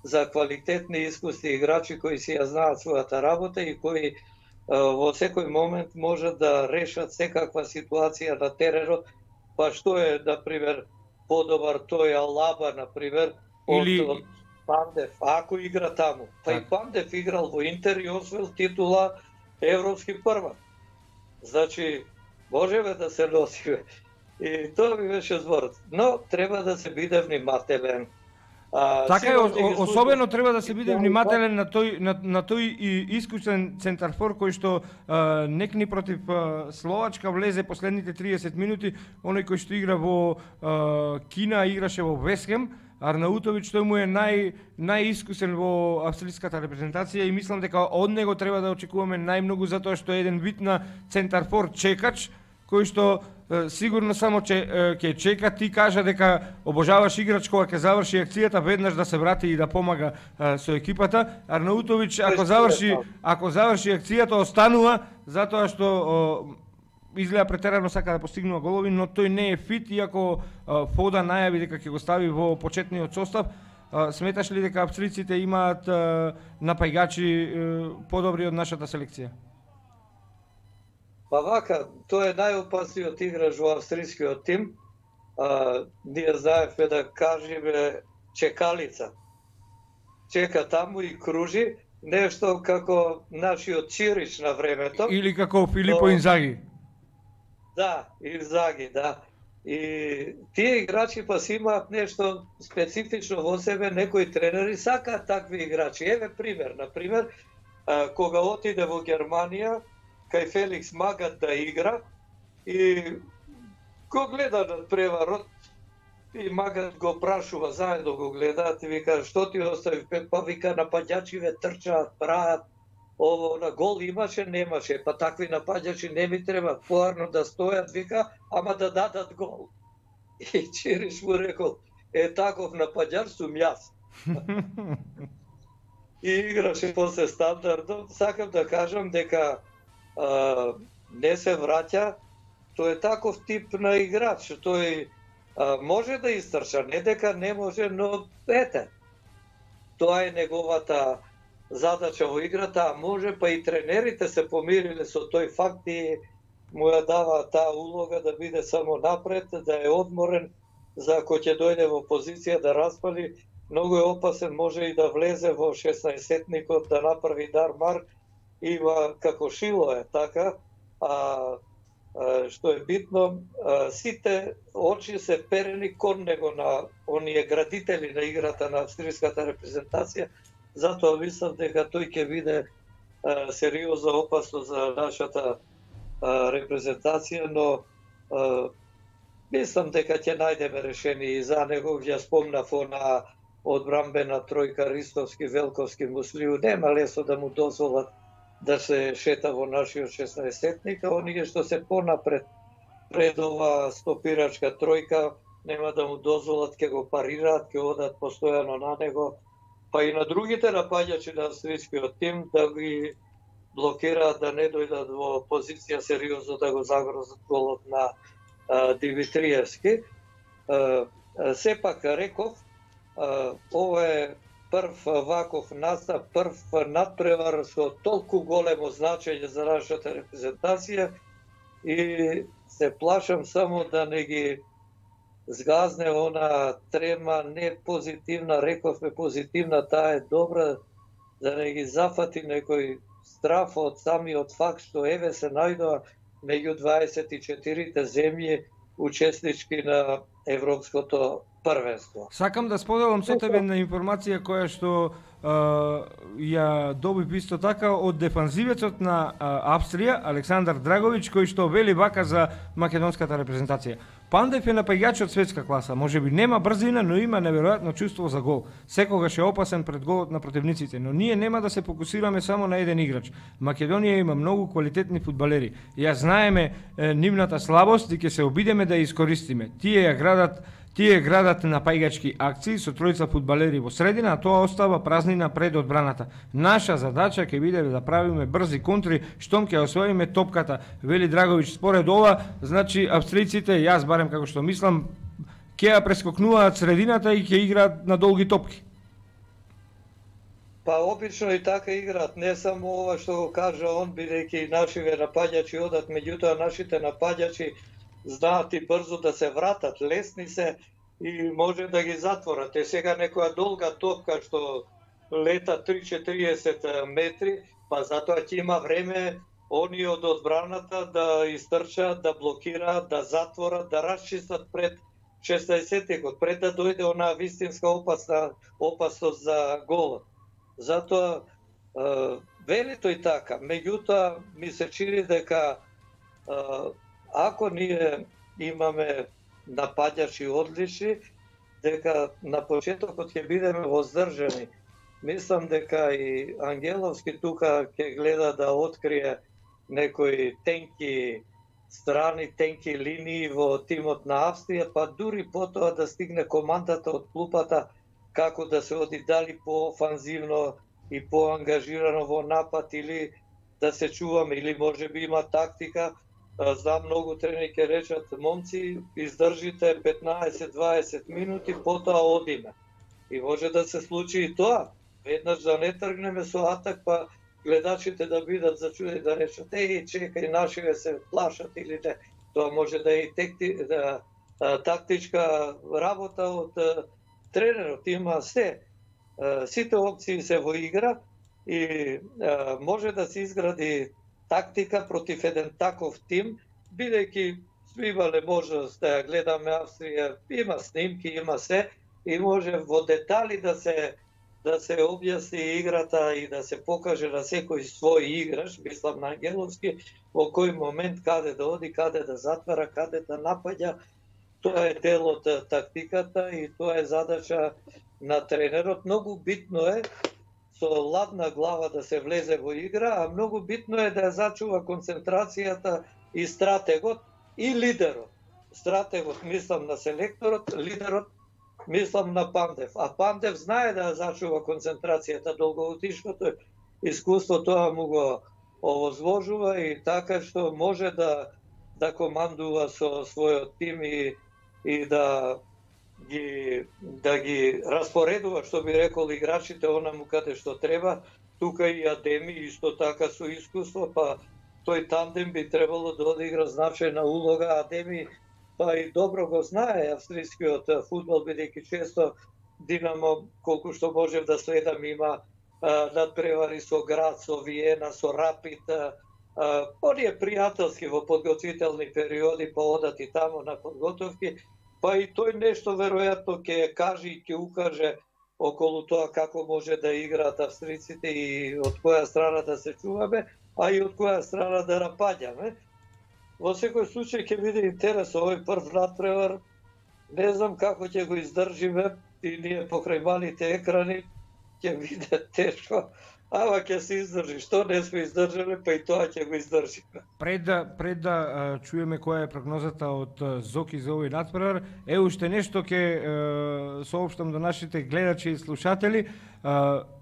за квалитетни искусни играчи кои си ја знаат својата работа и кои во секој момент може да решат секаква ситуација на теренот, па што е, например, подобар тој Алаба, например, од Пандев, ако игра таму. Па и Пандев играл во Интер и освоил титула европски првак. Значи, можеме да се носиме. И тоа ми беше зборот. Но треба да се биде внимателен. Така е, особено треба да се биде внимателен на тој искусен центарфор кој што некни против Словачка влезе последните 30 минути, оној кој што игра во Кина, играше во Весхем, Арнаутович, тој му е најискусен во австриската репрезентација и мислам дека од него треба да очекуваме најмногу, затоа што е еден вид на центарфор чекач, кој што сигурно само ќе чека, ти кажа дека обожаваш играч кога ќе заврши акцијата, веднаш да се врати и да помага со екипата. Арнаутович ако заврши акцијата останува затоа што изгледа претерано сака да постигнува голови, но тој не е фит, иако Фода најави дека ќе го стави во почетниот состав. Сметаш ли дека австриците имаат напајгачи подобри од нашата селекција? Па вака, тој е најопасниот играч во австрискиот тим. Ние знаевме да кажеме чекалица. Чека таму и кружи, нешто како нашиот Чирич на времето. Или како Филипо Инзаги. Да, Инзаги, да. И тие играчи па си имаат нешто специфично во себе, некои тренери сакаат такви играчи. Еве пример, например, кога отиде во Германија, кај Феликс Магат да игра и го гледа над преварот и Магат го прашува, заедно го гледаат и вика што ти остави, па вика напаѓачиве трчаат, прават, ово на гол имаше, немаше, па такви напаѓачи не ми треба, поарно да стојат, вика, ама да дадат гол. И Чириш му рекол, таков напаѓач сум јас. И играше после стандардно. Сакам да кажам дека не се враќа, тој е таков тип на играч, тој може да истрча, не дека не може, но тоа е неговата задача во играта, а може па и тренерите се помириле со тој факт и му ја дава таа улога да биде само напред, да е одморен, за ако ќе дојде во позиција да распали, многу е опасен, може и да влезе во 16-тникот, да направи дармар, има како шило е така, што е битно, сите очи се перени кон него на оние градители на играта на австријската репрезентација, затоа мислам дека тој ќе биде сериозна опасност за нашата репрезентација, но мислам дека ќе најдеме решение и за него. Ја спомнав она одбрамбена тројка Ристовски, Велковски, Муслиу, нема лесно да му дозволат да се шета во нашиот 16-тник, а оние што се понапред пред ова стопирачка тројка нема да му дозволат, ќе го парираат, ќе одат постојано на него, па и на другите напаѓачи на австријскиот тим да ги блокираат, да не дојдат во позиција сериозно да го загрозат голот на Димитриевски. Сепак реков, ова е прв ваков настап, прв надпревар со толку големо значење за нашата репрезентација и се плашам само да не ги згазне она трема не позитивна, рековме позитивна, таа е добра, да не ги зафати некој страф од самиот факт што еве се најдоа меѓу 24 земји учеснички на Европското првенство. Сакам да споделам со тебе на информација која што ја добив исто така од дефанзивецот на Австрија, Александар Драгович, кој што вели вака за македонската репрезентација. Пандев е напаѓач од светска класа, можеби нема брзина, но има неверојатно чувство за гол. Секогаш е опасен пред голот на противниците, но ние нема да се фокусираме само на еден играч. Македонија има многу квалитетни фудбалери. Ја знаеме нивната слабост и ќе се обидеме да ја искористиме. Тие градат напаѓачки акции со тројца фудбалери во средина, а тоа остава празнина пред одбраната. Наша задача ќе биде да правиме брзи контри, штом ќе освоиме топката, вели Драгович. Според ова, значи австријците, јас барем како што мислам, ќе ја прескокнуваат средината и ќе играат на долги топки. Па обично и така играат, не само ова што го кажа он, бидејќи нашите напаѓачи одат, меѓутоа нашите напаѓачи знаат и брзо да се вратат, лесни се и може да ги затворат. Сега некоја долга топка што лета 3-40 метри, па затоа ќе има време они од одбраната да истрчат, да блокираат, да затворат, да расчистат пред 16-тикот, пред да дојде онаа вистинска опасност за голот. Затоа вели тој така, меѓутоа ми се чини дека ако ние имаме напаѓачи одлични, дека на почетокот ќе бидеме воздржани. Мислам дека и Ангеловски тука ќе гледа да открие некои тенки страни, тенки линии во тимот на Австрија, па дури потоа да стигне командата од клупата како да се оди дали по-офанзивно и по-ангажирано во напад или да се чуваме, или можеби има тактика. Знам многу тренери ќе речат, момци, издржите 15-20 минути, потоа одиме. И може да се случи и тоа. Веднаш да не тргнеме со атак, па гледачите да бидат зачудени, да речат, чекај, нашиве се плашат или не. Тоа може да е и тактичка работа од тренерот. Има се. Сите опции се во игра и може да се изгради тактика против еден таков тим, бидејќи сме имале можност да ја гледаме Австрија, има снимки, има се, и може во детали да се објасни играта и да се покаже на секој свој играч, мислам на Ангеловски, во кој момент каде да оди, каде да затвара, каде да напаѓа. Тоа е дел од тактиката и тоа е задача на тренерот. Многу битно е со ладна глава да се влезе во игра, а многу битно е да ја зачува концентрацијата и стратегот и лидерот. Стратегот мислам на селекторот, лидерот мислам на Пандев. А Пандев знае да ја зачува концентрацијата, долгогодишното искуство тоа му го овозвожува и така што може да командува со својот тим и да ги распоредува, што би рекол, играчите онаму каде што треба. Тука и Адеми исто така со искуство, па тој тандем би требало да одигра значајна улога. Адеми па и добро го знае австрискиот фудбал, бидејќи често Динамо, колку што можев да следам, има надпревари со Град, со Виена, со Рапид. Оние пријателски во подготвителни периоди, па одат и тамо на подготовки, па и тој нешто веројатно ќе каже и ќе укаже околу тоа како може да играат австриците и од која страна да се чуваме, а и од која страна да напаѓаме. Во секој случај ќе биде интерес овој прв надпревар. Не знам како ќе го издржиме и ние покрај малите екрани ќе биде тешко. Ама ќе се издржи. Што не сме издржале, па и тоа ќе го издржиме. Пред да чуеме која е прогнозата од Зоки за овој надпревар, уште нешто ќе соопштам до нашите гледачи и слушатели.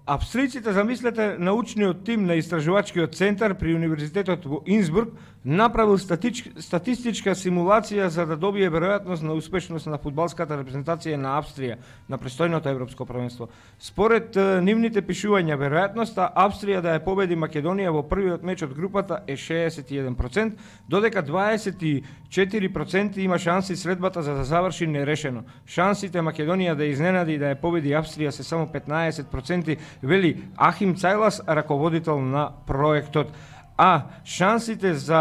Австриците, замислете, научниот тим на истражувачкиот центар при Универзитетот во Инсбрук направил статистичка симулација за да добие веројатност на успешност на фудбалската репрезентација на Австрија на престојното европско првенство. Според нивните пишувања, веројатноста Австрија да ја победи Македонија во првиот меч од групата е 61%, додека 24% има шанси средбата за да заврши нерешено. Шансите Македонија да изненади и да ја победи Австрија се само 15%, вели Ахим Цајлас, раководител на проектот. А шансите за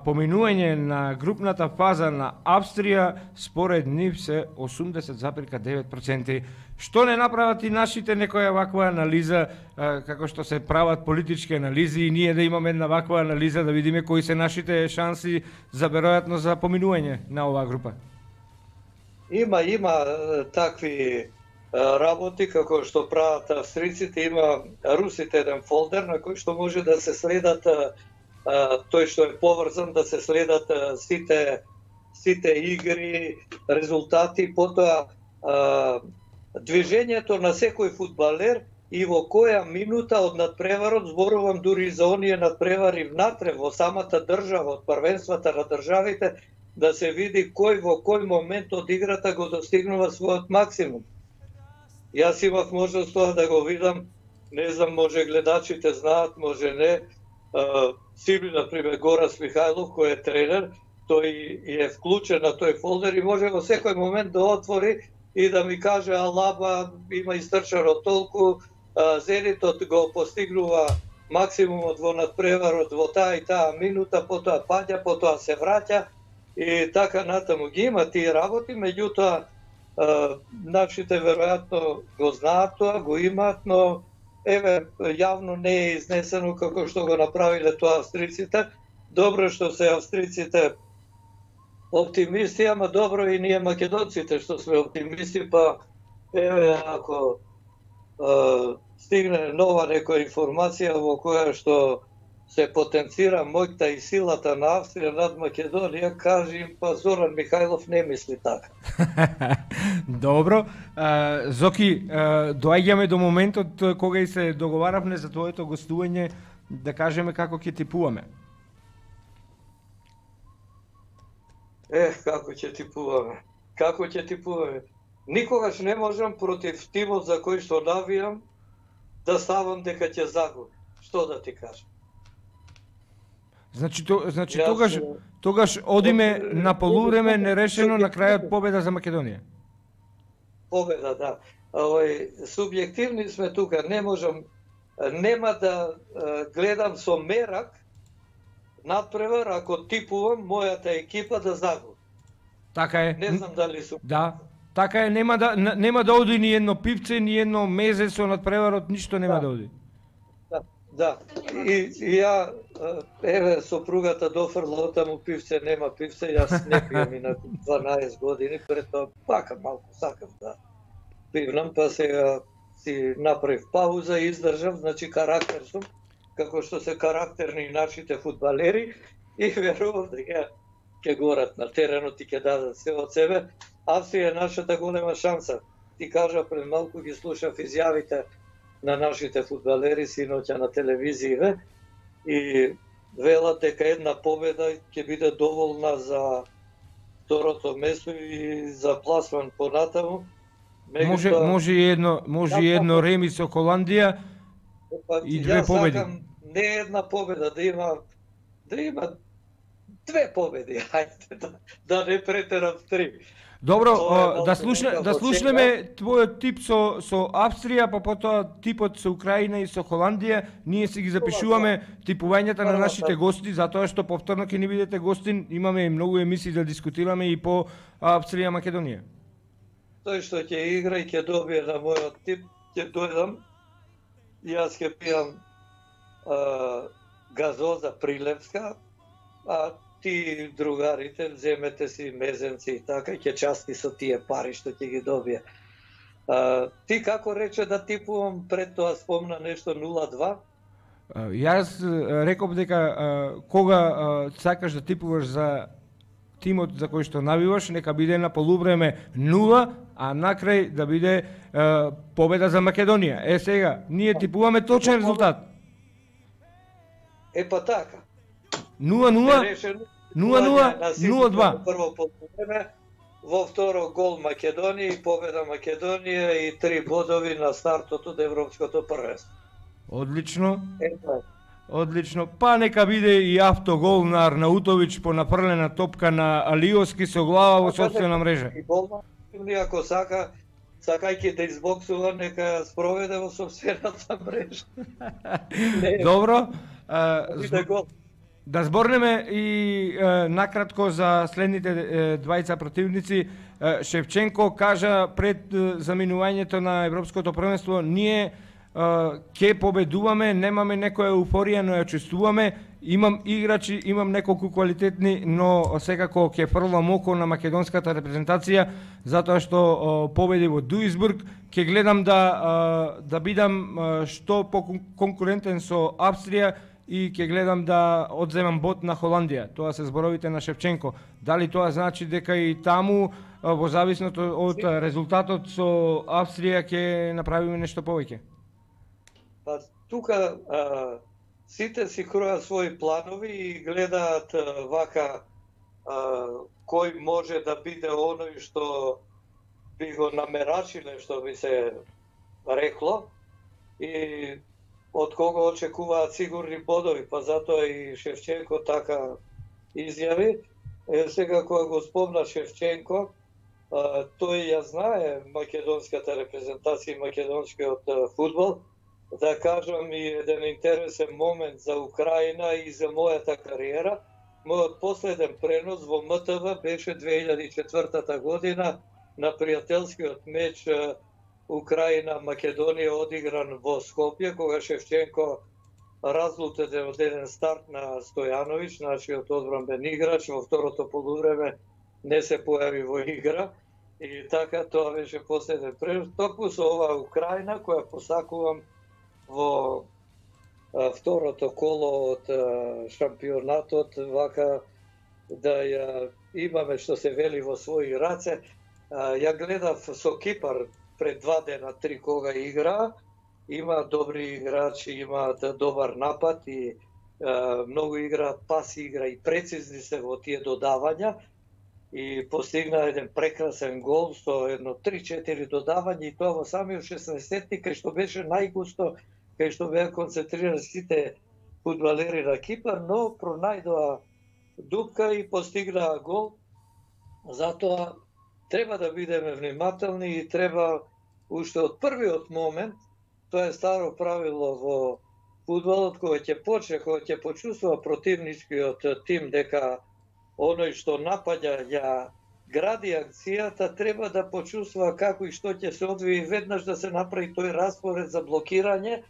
поминување на групната фаза на Австрија според нив се 80,9%. Што не направат и нашите некоја ваква анализа, како што се прават политички анализи, и ние да имаме една ваква анализа да видиме кои се нашите шанси за веројатно за поминување на оваа група? Има такви работи како што прават австриците. Има русите еден фолдер на кој што може да се следат, тој што е поврзан, да се следат сите игри, резултати, потоа движењето на секој фудбалер и во која минута од надпреварот, зборувам дури за оние надпревари внатре во самата држава, од првенствата на државите, да се види кој во кој момент од играта го достигнува својот максимум. Јас имав можност тоа да го видам, не знам, може гледачите знаат, може не. Сиби, например, Горас Михајлов, кој е тренер, тој е вклучен на тој фолдер и може во секој момент да отвори и да ми каже Алаба има истрчано толку, Зенитот го постигнува максимумот во надпреварот во таа и таа минута, потоа паѓа, потоа се враќа и така натаму. Ги има тие работи, меѓутоа нашите веројатно го знаат тоа, го имаат, но јавно не е изнесено како што го направиле тоа австриците. Добро што се австриците оптимисти, ама добро и ние македонците што сме оптимисти, па ако стигне нова некоја информација во која што се потенцира моќта и силата на Австрија над Македонија, кажи па Зоран Михајлов не мисли така. Добро. Зоки, доаѓаме до моментот кога и се договаравме за твоето гостување, да кажеме како ќе типуваме. Како ќе типуваме? Никогаш не можам против тимот за кој што навијам да ставам дека ќе загуби. Што да ти кажам? Значи тогаш одиме на полувреме нерешено, на крајот победа за Македонија. Победа, да. Субјективни сме тука, не можам, нема да гледам со мерак надпревар ако типувам мојата екипа да загуби. Така е. Не знам дали сум. Да, така е, нема да оди ни едно пивце, ни едно мезе со надпреварот, ништо нема да оди. Да, и ја, сопругата дофрла отаму пивце, нема пивце, јас не пијам и на 12 години, пред тоа пакам малку, сакам да пивнам, па сега си направив пауза и издржав, значи карактер сум, како што се карактерни нашите фудбалери и верувам дека ќе горат на теренот и ќе дадат се од себе. Австрија е нашата голема шанса. Ти кажа пред малку ги слушав изјавите на нашите фудбалери синоќа на телевизија и велат дека една победа ќе биде доволна за второто место и за пласман понатаму. Може и едно реми со Холандија и две победи. Сакам не една победа, да има две победи, хајде да не претерам три. Добро, да слушнеме твојот тип со Австрија, па потоа типот со Украина и со Холандија. Ние си ги запишуваме типувањата на нашите гости, затоа што повторно ќе ни бидете гостин, имаме и многу емисии да дискутираме и по Австрија и Македонија. Тој што ќе игра и ќе добие на мојот тип, ќе дојдам, јас ќе пијам газоза Прилепска, а ти другарите земете си мезенци и така, ќе части со тие пари што ќе ги добие. Ти како рече да типувам, пред тоа спомна нешто 0-2? Јас реков дека кога сакаш да типуваш за тимот за кој што навиваш, нека биде на полувреме 0, а накрај да биде победа за Македонија. Сега, ние типуваме точен резултат. Па така. 0-0, 0-0, Прво полувреме, во второ гол Македонија и победа Македонија и 3 бодови на стартот од Европското првенство. Одлично. Одлично. Па нека биде и автогол на Арнаутовиќ по напрлена топка на Алиоски со глава во сопствена мрежа. И гол ако сакајќи да избоксува, нека спроведе во сопствената мрежа. Добро. Да зборнеме и накратко за следните двајца противници. Шевченко кажа пред заминувањето на Европското првенство, ние ќе победуваме, немаме некоја еуфорија, но ја чувствуваме. Имам играчи, имам неколку квалитетни, но секако ќе фрлам око на македонската репрезентација, затоа што победи во Дуисбург. Ќе гледам да бидам што поконкурентен со Австрија и ќе гледам да одземам бот на Холандија. Тоа се зборовите на Шевченко. Дали тоа значи дека и таму, во зависност од резултатот со Австрија, ќе направиме нешто повеќе? Па тука сите си кројат своји планови и гледаат вака кој може да биде оној што би го намерачиле, што би се рекло, и од кого очекуваат сигурни бодови, па затоа и Шевченко така изјави. Сега кога го спомна Шевченко, тој ја знае македонската репрезентација и македонскиот фудбал. Да кажам и еден интересен момент за Украина и за мојата кариера. Мојот последен пренос во МТВ беше 2004 година на пријателскиот меч Украина-Македонија одигран во Скопје, кога Шевченко разлутен од еден старт на Стојановиќ, нашиот одбранбен играч, во второто полувреме не се појави во игра. И така тоа беше последен пренос. Токму со оваа Украина, која посакувам во второто коло од шампионатот, вака да ја имаме, што се вели, во своји раце. Ја гледав со Кипар пред 2 дена, 3 кога игра. Има добри играчи, имаат добар напад и многу играат паси, игра и прецизни се во тие додавања. И постигна еден прекрасен гол со едно 3-4 додавања и тоа во самиот 16-тник, кај што беше најгусто, кај што беа концентрирани сите фудбалери на Кипар, но пронајдоа дупка и постигнаа гол. Затоа треба да бидеме внимателни и треба уште од првиот момент, тоа е старо правило во фудбалот, кога ќе почувствува противничкиот тим дека оној што напаѓа ја гради акцијата, треба да почувствува како и што ќе се одвие, веднаш да се направи тој распоред за блокирање,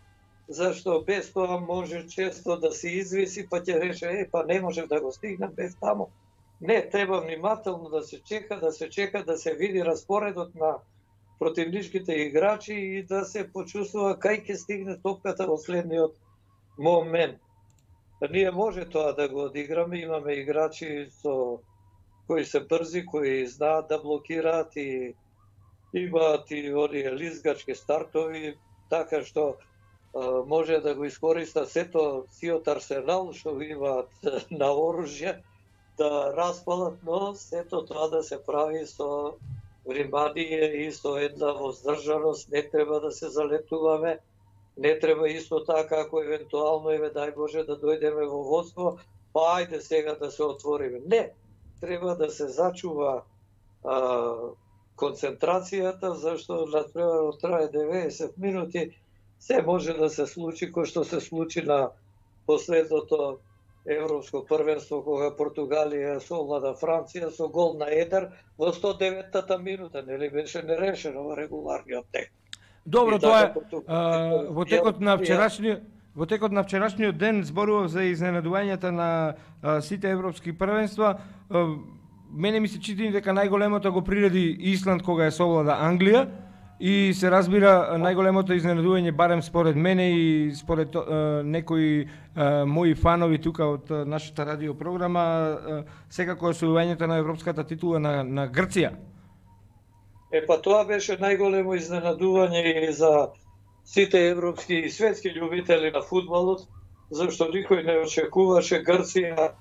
зашто без тоа може често да се извиси, па ќе реше, па не можев да го стигнам без таму. Не, треба внимателно да се чека, да се види распоредот на противничките играчи и да се почувствува кај ќе стигне топката во следниот момент. Ние може тоа да го одиграме, имаме играчи кои се брзи, кои знаат да блокираат и имаат и оние лизгачки стартови, така што може да го искористат сето сиот арсенал што имаат на оружје да распалат, но сето тоа да се прави со внимание и со една воздржаност, не треба да се залетуваме, не треба исто така ако евентуално дај Боже да дојдеме во водство, па ајде сега да се отвориме. Не, треба да се зачува концентрацијата, зашто надпреварот трае 90 минути, се може да се случи кој што се случи на последното Европско првенство, кога Португалија совлада Франција со гол на едер во 109-та минута, нели беше нерешено во регуларниот тек. Добро, тоа е во текот на вчерашниот ден зборував за изненадувањата на сите европски првенства. Мене ми се чини дека најголемото го приреди Исланд кога е совлада Англија и се разбира најголемото изненадување, барем според мене и според некои мои фанови тука од нашата радиопрограма, секако е освојувањето на европската титула на Грција. Па тоа беше најголемо изненадување и за сите европски и светски љубители на фудбалот, зашто никој не очекуваше Грција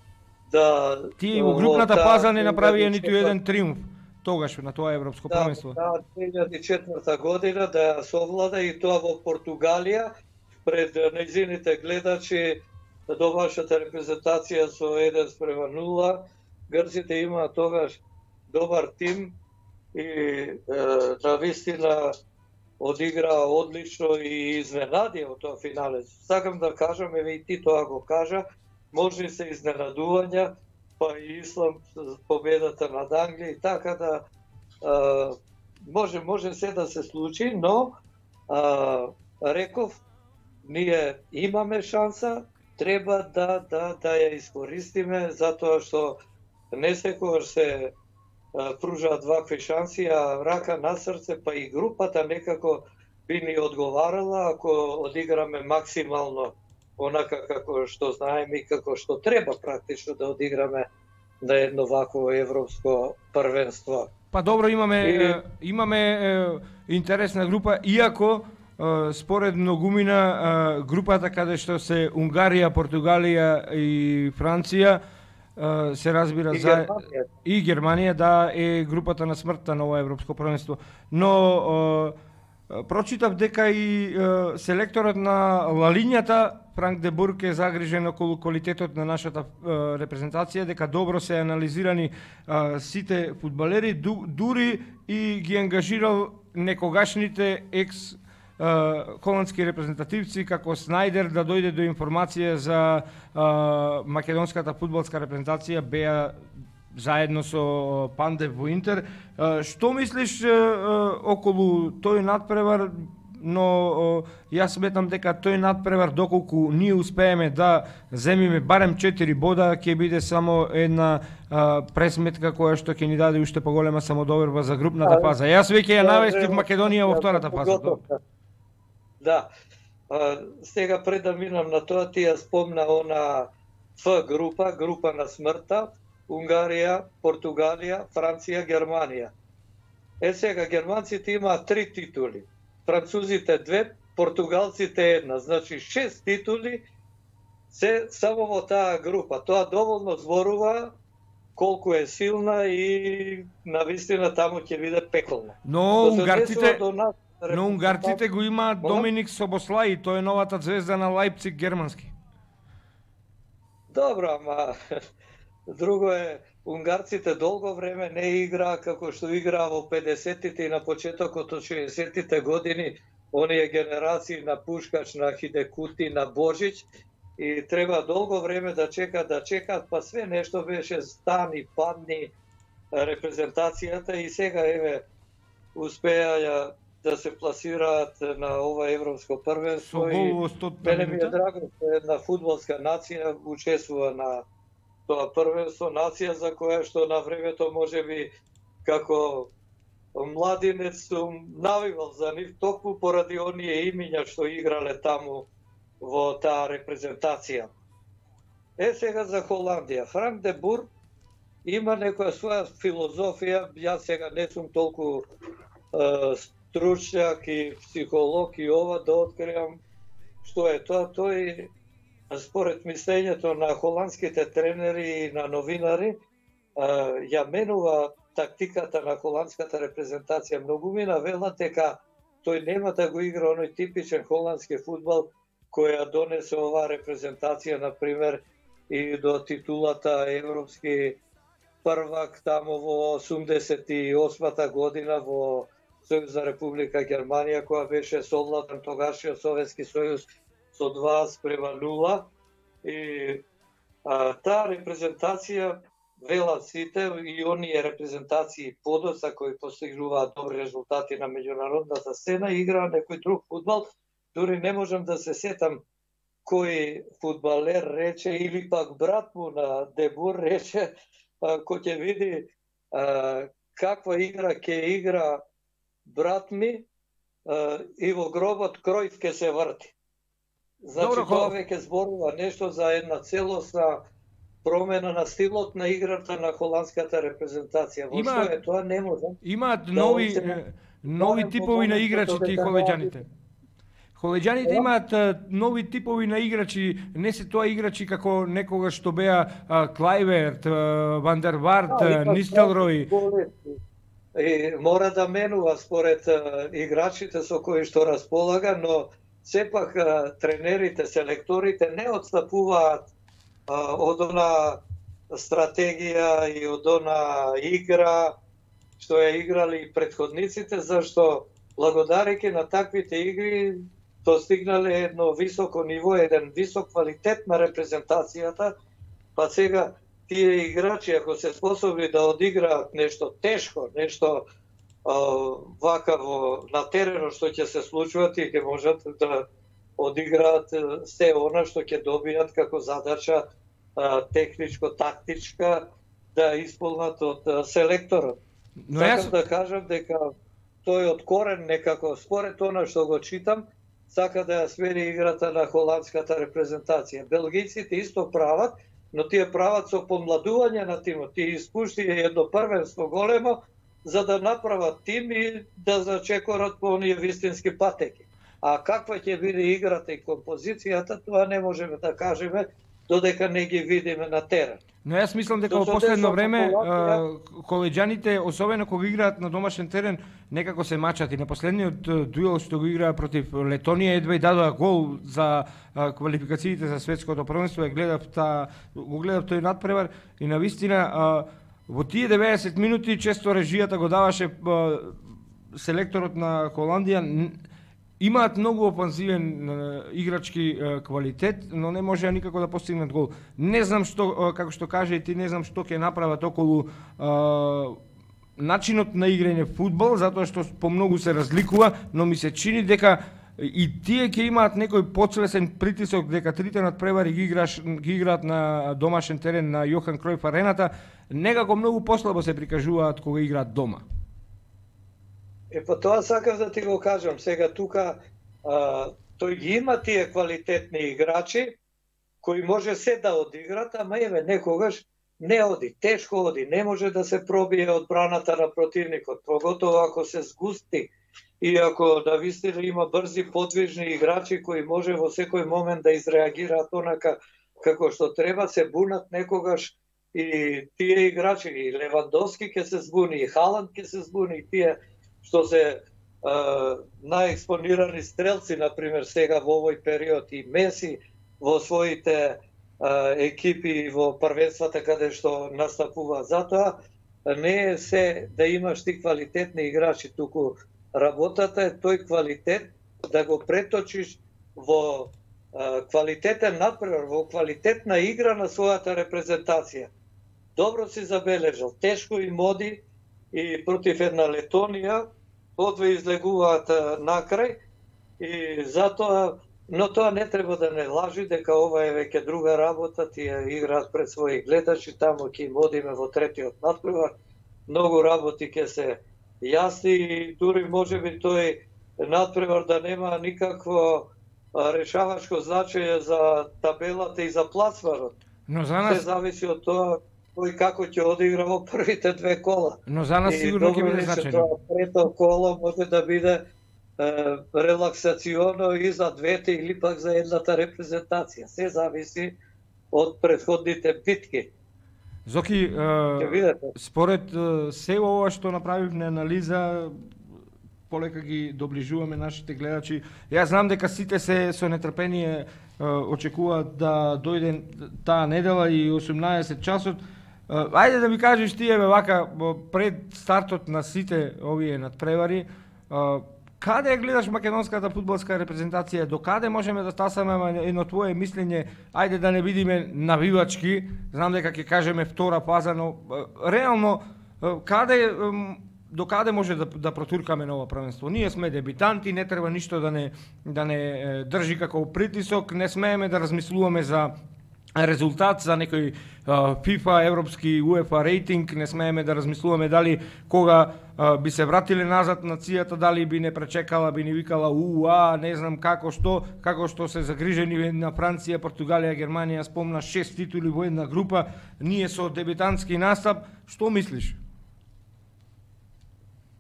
да... Тие во групната фаза не направија ниту еден триумф тогаш на тоа европско првенство. Да, 2004 година да ја совлада и тоа во Португалија пред нејзините гледачи, домашната репрезентација со 1:0. Грците имаа тогаш добар тим и навистина одиграа одлично и изненади во тоа финале. Сакам да кажам, и ти тоа го кажа, може се изненадувања, па и Исланд победата над Англија и така да може се да се случи, но реков, ние имаме шанса, треба да ја искористиме, затоа што не секогаш се пружаат вакви шанси, а рака на срце, па и групата некако би ни одговарала ако одиграме максимално онака како што знаеме и како што треба практично да одиграме на едно вакво европско првенство. Па добро, имаме интересна група, иако според многумина групата каде што се Унгарија, Португалија и Франција се разбира и Германија, да, е групата на смртта на ова европско првенство. Но прочитав дека и селекторот на Лалињата Франк де Бург е загрижен околу квалитетот на нашата репрезентација, дека добро се анализирани сите фудбалери, дури и ги ангажирал некогашните екс холандски репрезентативци како Снајдер да дојде до информација за македонската фудбалска репрезентација, беа заедно со Пандев во Интер. Што мислиш околу тој надпревар? Но јас сметам дека тој надпревар, доколку ние успееме да земиме барем 4 бода, ќе биде само една пресметка која што ќе ни даде уште поголема самодоверба за групната фаза. Јас веќе ја навестив Македонија во втората фаза. Да. Сега пред да минам на тоа, ти ја спомна она Ф група на смртта, Унгарија, Португалија, Франција, Германија. Сега германците имаат 3 титули, французите 2, португалците 1, значи 6 титули се само во таа група. Тоа доволно зборува колку е силна и навистина таму ќе биде пеколно. Но унгарците го имаат Доминик Собослај, тој е новата звезда на Лајпциг германски. Добро, ама друго е, унгарците долго време не играа како што играа во 50-тите и на почетокот од 60-тите години, оние генерации на Пушкач, на Хидекути, на Божич, и треба долго време да чекаат, па све нешто беше стани, падни репрезентацијата и сега успеа да се пласираат на ова европско првенство. Мене ми е драго што една фудбалска нација учествува на тоа првенство, нација за која што на времето можеби како младинец сум навивал за нив токму поради оние имиња што играле таму во таа репрезентација. Сега за Холандија. Франк де Бур има некоја своја филозофија, јас сега не сум толку стручњак и психолог и ова да откриам што е тоа. Тој, според мислењето на холандските тренери и на новинари, ја менува тактиката на холандската репрезентација. Многумина велат дека тој нема да го игра оној типичен холандски фудбал која донесе оваа репрезентација, например, и до титулата европски првак тамо во 88-та година во Сојузна Република Германија, која беше совладан тогашниот Советски сојуз со 2:0. И таа репрезентација, велат сите, и оние репрезентации подоцна кои постигнуваат добри резултати на меѓународната сцена, играа некој друг фудбал. Дури не можам да се сетам кој фудбалер рече, или пак брат му на Дебур рече, кој ќе види каква игра ќе игра брат ми и во гробот Кројф ќе се врти. Значи, тоа веќе зборува нешто за една целосна промена на стилот на играта на холандската репрезентација. Во што е тоа не можам. Имаат нови типови на играчи тие холеѓаните. Холеѓаните имаат нови типови на играчи, не се тоа играчи како некогаш што беа Клајверт, Ван дер Варт, Нистелрој. И мора да менува според играчите со кои што располага, но сепак тренерите, селекторите не отстапуваат од она стратегија и од она игра што ја играли претходниците, зашто благодарејќи на таквите игри достигнале едно високо ниво, еден висок квалитет на репрезентацијата, па сега тие играчи, ако се способни да одиграат нешто тешко, нешто вака на теренот што ќе се случува, тие ќе можат да одиграат се она што ќе добијат како задача техничко-тактичка да исполнат од селекторот. Сакам да кажам дека тој од корен некако, според она што го читам, сака да ја смени играта на холандската репрезентација. Белгијците исто прават, но тие прават со помладување на тимот. Тие испушти едно првенство големо за да направат тим и да зачекорат по оние вистински патеки. А каква ќе биде играта и композицијата, тоа не можеме да кажеме додека не ги видиме на терен. Но јас мислам дека во последно време колеѓаните, особено кога играат на домашен терен, некако се мачат. И на последниот дуел што го играа против Летонија едва и дадоа гол за квалификациите за светското првенство, го гледав тој надпревар и навистина во тие 90 минути често режијата го даваше селекторот на Холандија. Имаат многу офанзивен играчки квалитет, но не можеа никако да постигнат гол. Не знам што, како што каже и ти, не знам што ќе направат околу начинот на играње фудбал, затоа што помногу се разликува, но ми се чини дека и тие ќе имаат некој поцелесен притисок дека трите надпревари ги играат на домашен терен на Јохан Кројф арената, некако многу послабо се прикажуваат кога играат дома. Па тоа сакав да ти го кажам. Сега тука тој ги има тие квалитетни играчи кои може се да одиграт, ама еве некогаш не оди, тешко оди, не може да се пробие одбраната на противникот, поготово ако се згусти и ако навистина има брзи, подвижни играчи кои може во секој момент да изреагираат онака како што треба, се бунат некогаш и тие играчи, и Левандовски ќе се збуни, и Халанд ќе се збуни, и тие што се наекспонирани стрелци, например, сега во овој период, и Меси во своите екипи во првенствата каде што настапува. Затоа не е се да имаш ти квалитетни играчи, туку работата е тој квалитет да го преточиш во квалитетен надпревар, во квалитетна игра на својата репрезентација. Добро си забележал, тешко им оди и против една Летонија, одве излегуваат накрај и затоа, но тоа не треба да не лажи дека ова е веќе друга работа, тие играат пред своји гледачи, таму ќе им одиме во третиот надпревар, многу работи ќе се јасни и дури можеби тој надпревар да нема никакво решавачко значење за табелата и за пласманот. Но за нас се зависи од тоа кој како ќе одигра во првите две кола. Но за нас сигурно ќе биде значајно. Трето коло може да биде релаксационо и за двете или пак за едната репрезентација. Се зависи од претходните битки. Зоки, според се ова што направивме анализа, полека ги доближуваме нашите гледачи. Јас знам дека сите се со нетрпение очекуваат да дојде таа недела и 18 часот. Ајде да ми кажеш ти, вака, пред стартот на сите овие надпревари, каде гледаш македонската фудбалска репрезентација, до каде можеме да стасаме едно твое мислење, ајде да не бидиме навивачки, знам дека ќе кажеме втора фаза, но реално до каде може да протуркаме на ова првенство? Ние сме дебитанти, не треба ништо да не држи како притисок, не смееме да размислуваме за резултат, за некој FIFA, европски, UEFA рейтинг, не смееме да размислуваме дали кога би се вратиле назад нацијата, дали би не пречекала, би ни викала не знам како што се загрижени на Франција, Португалија, Германија, спомна 6 титули во една група, ние со дебитантски настап, што мислиш?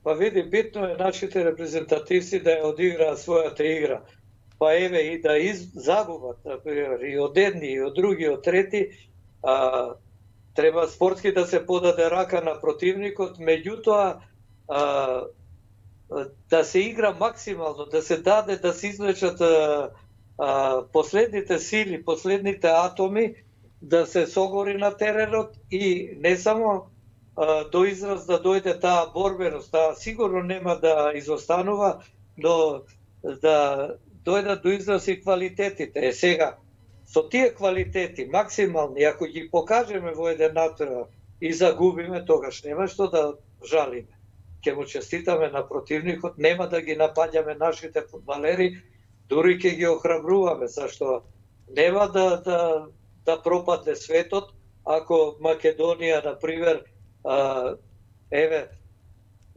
Па види, битно е нашите репрезентативци да ја одиграат својата игра. Па еве и да загубат, например, и од едни, и од други, и од трети, треба спортски да се подаде рака на противникот, меѓутоа да се игра максимално, да се даде да се извлечат последните сили, последните атоми, да се согори на теренот и не само до израз да дојде таа борбеност, таа сигурно нема да изостанува, но да дојдат до израз и квалитетите. Сега, со тие квалитети, максимални, ако ги покажеме во еден надпревар и загубиме, тогаш нема што да жалиме. Ќе му честитаме на противникот, нема да ги напаѓаме нашите фудбалери, дури ќе ги охрабруваме, зашто нема да пропадне светот, ако Македонија, например, еве,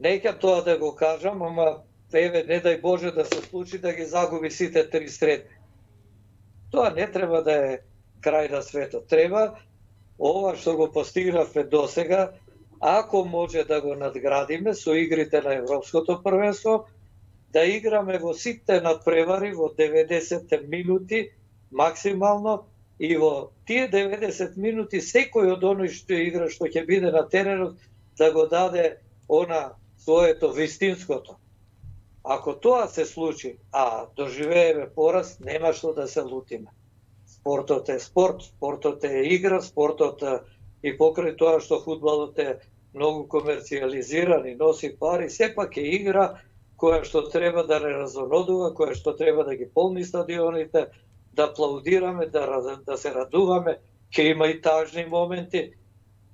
неќам тоа да го кажам, ама еве, не дај Боже да се случи да ги загуби сите три средни. Тоа не треба да е крај на светот. Треба ова што го постигнавме досега, ако може да го надградиме со игрите на Европското првенство, да играме во сите надпревари во 90 минути максимално и во тие 90 минути секој од оној што игра, што ќе биде на теренот, да го даде она своето вистинското. Ако тоа се случи, доживееме пораз, нема што да се лутиме. Спортот е спорт, спортот е игра, спортот и покрај тоа што фудбалот е многу комерцијализиран и носи пари, сепак е игра која што треба да не разонодува, која што треба да ги полни стадионите, да аплаудираме, да се радуваме. Ќе има и тажни моменти.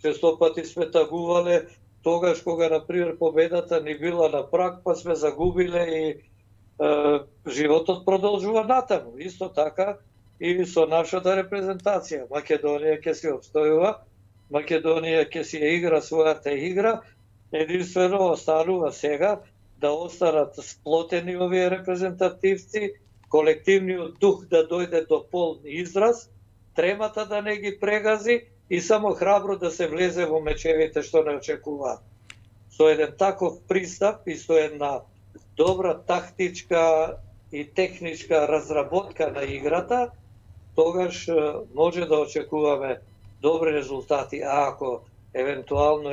Често пати сме тагувале тогаш кога, например, победата ни била на праг, па сме загубиле и животот продолжува натаму. Исто така и со нашата репрезентација. Македонија ќе се обстојува, Македонија ќе си ја игра својата игра, единствено останува сега да останат сплотени овие репрезентативци, колективниот дух да дојде до полн израз, тремата да не ги прегази и само храбро да се влезе во мечевите што не очекуваат. Со еден таков пристап и со една добра тактичка и техничка разработка на играта, тогаш може да очекуваме добри резултати. А ако евентуално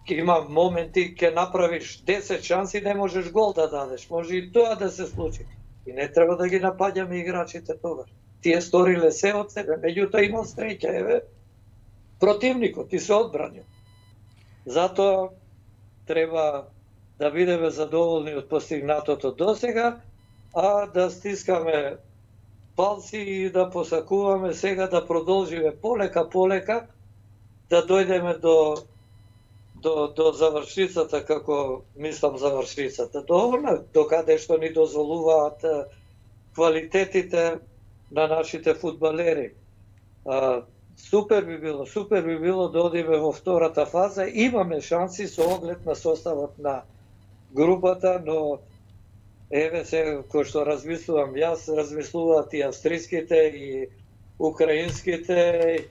има моменти ќе направиш 10 шанси, не можеш гол да дадеш. Може и тоа да се случи. И не треба да ги напаѓаме играчите тогаш. Тие сториле се од себе, меѓутоа има среќа, противникот и се одбранил. Затоа треба да бидеме задоволни од постигнатото досега, а да стискаме палци и да посакуваме сега да продолжиме полека, да дојдеме до завршицата, како мислам завршицата, до каде што ни дозволуваат квалитетите на нашите фудбалери. Супер би било да одиме во втората фаза. Имаме шанси со оглед на составот на групата, но еве се кој што размислувам јас, размислуваат и австриските и украинските,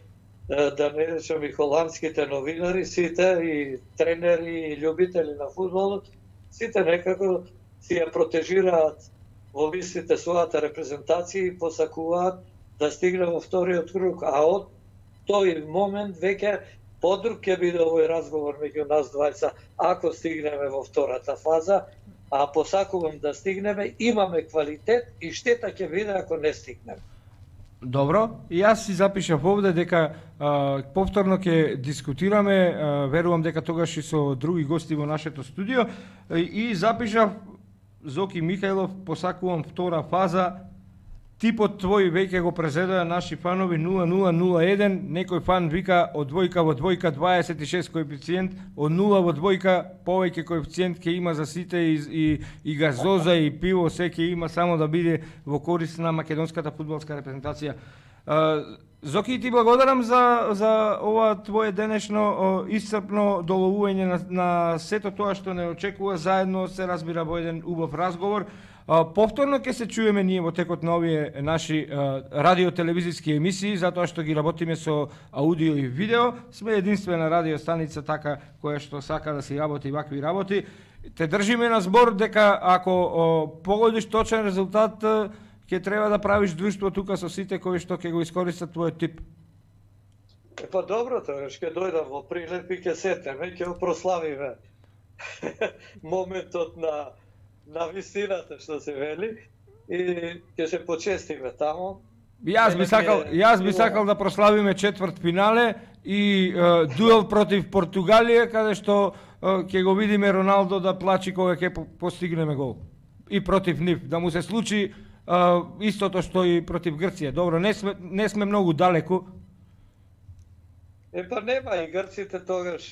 да не речам и холандските новинари, сите и тренери и љубители на фудбалот, сите некако си ја протежираат во мислите својата репрезентација и посакуваат да стигне во вториот круг, а од тој момент веќе подруг ќе биде овој разговор меѓу нас двајца ако стигнеме во втората фаза, а посакувам да стигнеме, имаме квалитет и штета ќе биде ако не стигнеме. Добро, и јас си запишав овде дека повторно ќе дискутираме, верувам дека тогаш и со други гости во нашето студио, и запишав Зоки Михајлов, посакувам втора фаза. Типот твој веќе го презедоа наши фанови 0001, некој фан вика од двојка во двојка 26 коефициент, од 0 во двојка повеќе коефициент ќе има за сите и газоза и пиво, се ќе има само да биде во корист на македонската фудбалска репрезентација. Зоки, ти благодарам за ова твое денешно исцрпно доловување на сето тоа што не очекува, заедно се разбира во еден убав разговор. Повторно ќе се чуеме ние во текот на овие наши радио-телевизиски емисии, затоа што ги работиме со аудио и видео. Сме единствена радио станица така која што сака да си работи вакви работи. Те држиме на збор дека ако погодиш точен резултат, ќе треба да правиш друштво тука со сите кои што ќе го искористат твојот тип. Па добро, тогаш ќе дојдам во Прилеп и ќе сетеме, ќе прославиме моментот на вистината што се вели и ќе се почестиме тамо. Јас би сакал да прославиме четврт финале и дуел против Португалија, каде што ќе го видиме Роналдо да плачи кога ќе постигнеме гол. И против нив, да му се случи истото што и против Грција. Добро, не сме многу далеку. Па нема, и грците тогаш,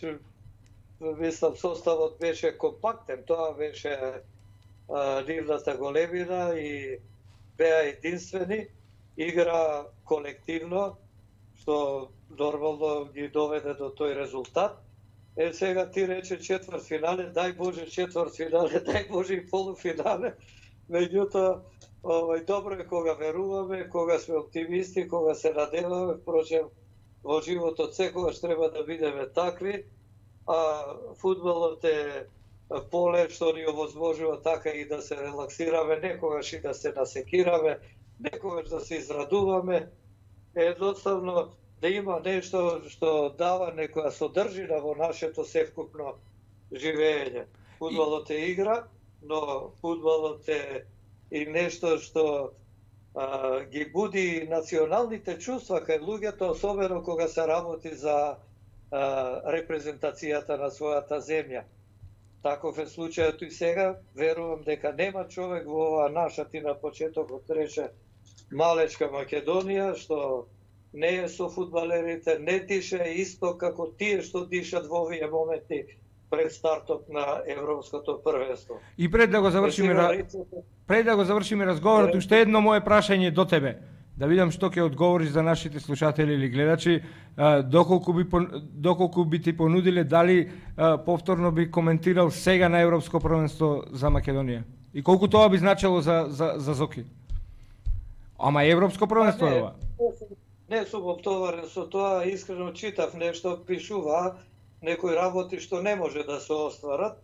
мислам, составот беше компактен, тоа беше нивната големина и беа единствени, игра колективно, што нормално ги доведе до тој резултат. Сега ти рече четврт финале, дај Боже четврт финале, дај Боже и полуфинале. Меѓутоа, добро е кога веруваме, кога сме оптимисти, кога се надеваме, впрочем, во животот секогаш треба да бидеме такви, а фудбалот е поле што ни овозможува така и да се релаксираме, некогаш и да се насекираме, некогаш да се израдуваме, едноставно да има нешто што дава некоја содржина во нашето севкупно живење. Фудбалот е игра, но фудбалот е и нешто што ги буди националните чувства кај луѓето, особено кога се работи за репрезентацијата на својата земја. Таков е случајот и сега. Верувам дека нема човек во оваа наша, ти на почетокот рече, малечка Македонија, што не е со фудбалерите, не дише исто како тие што дишат во овие моменти пред стартот на европското првенство. И пред да го завршиме разговорот, уште едно мое прашање до тебе. Да видам што ќе одговориш за нашите слушатели или гледачи, доколку би ти понудиле, дали повторно би коментирал сега на Европско првенство за Македонија? И колку тоа би значило за Зоки? Ама Европско првенство е ова? Не сум оптоварен со тоа, искрено читав нешто, пишува некои работи што не може да се остварат.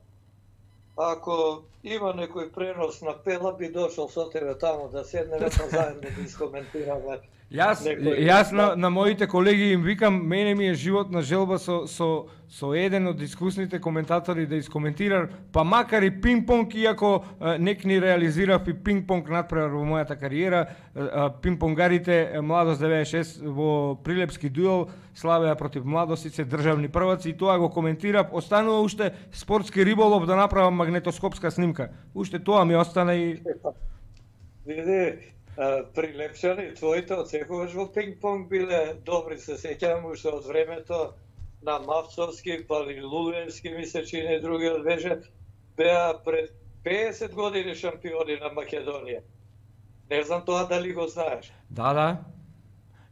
Ако има некој пренос на Пела, би дошол со тебе таму да седнеме па заедно да искоментираме. Јас на моите колеги им викам, мене ми е животна желба со еден од искусните коментатори да искоментира, па макар и пинг-понг, иако нек ни реализирав и пинг-понг надпревар во мојата кариера, пинг-понгарите Младост 96 во Прилепски дуел славеа против Младост и се државни прваци, и тоа го коментирав. Останува уште спортски риболов да направам магнетоскопска снимка. Уште тоа ми остана и... Види, Прилепчани, твоите од секогаш во пинг-понг биле добри, се сеќавам уште од времето на Мавцовски, па и Лулевски, ми се чини, другиот беше, беа пред 50 години шампиони на Македонија. Не знам тоа дали го знаеш. Да.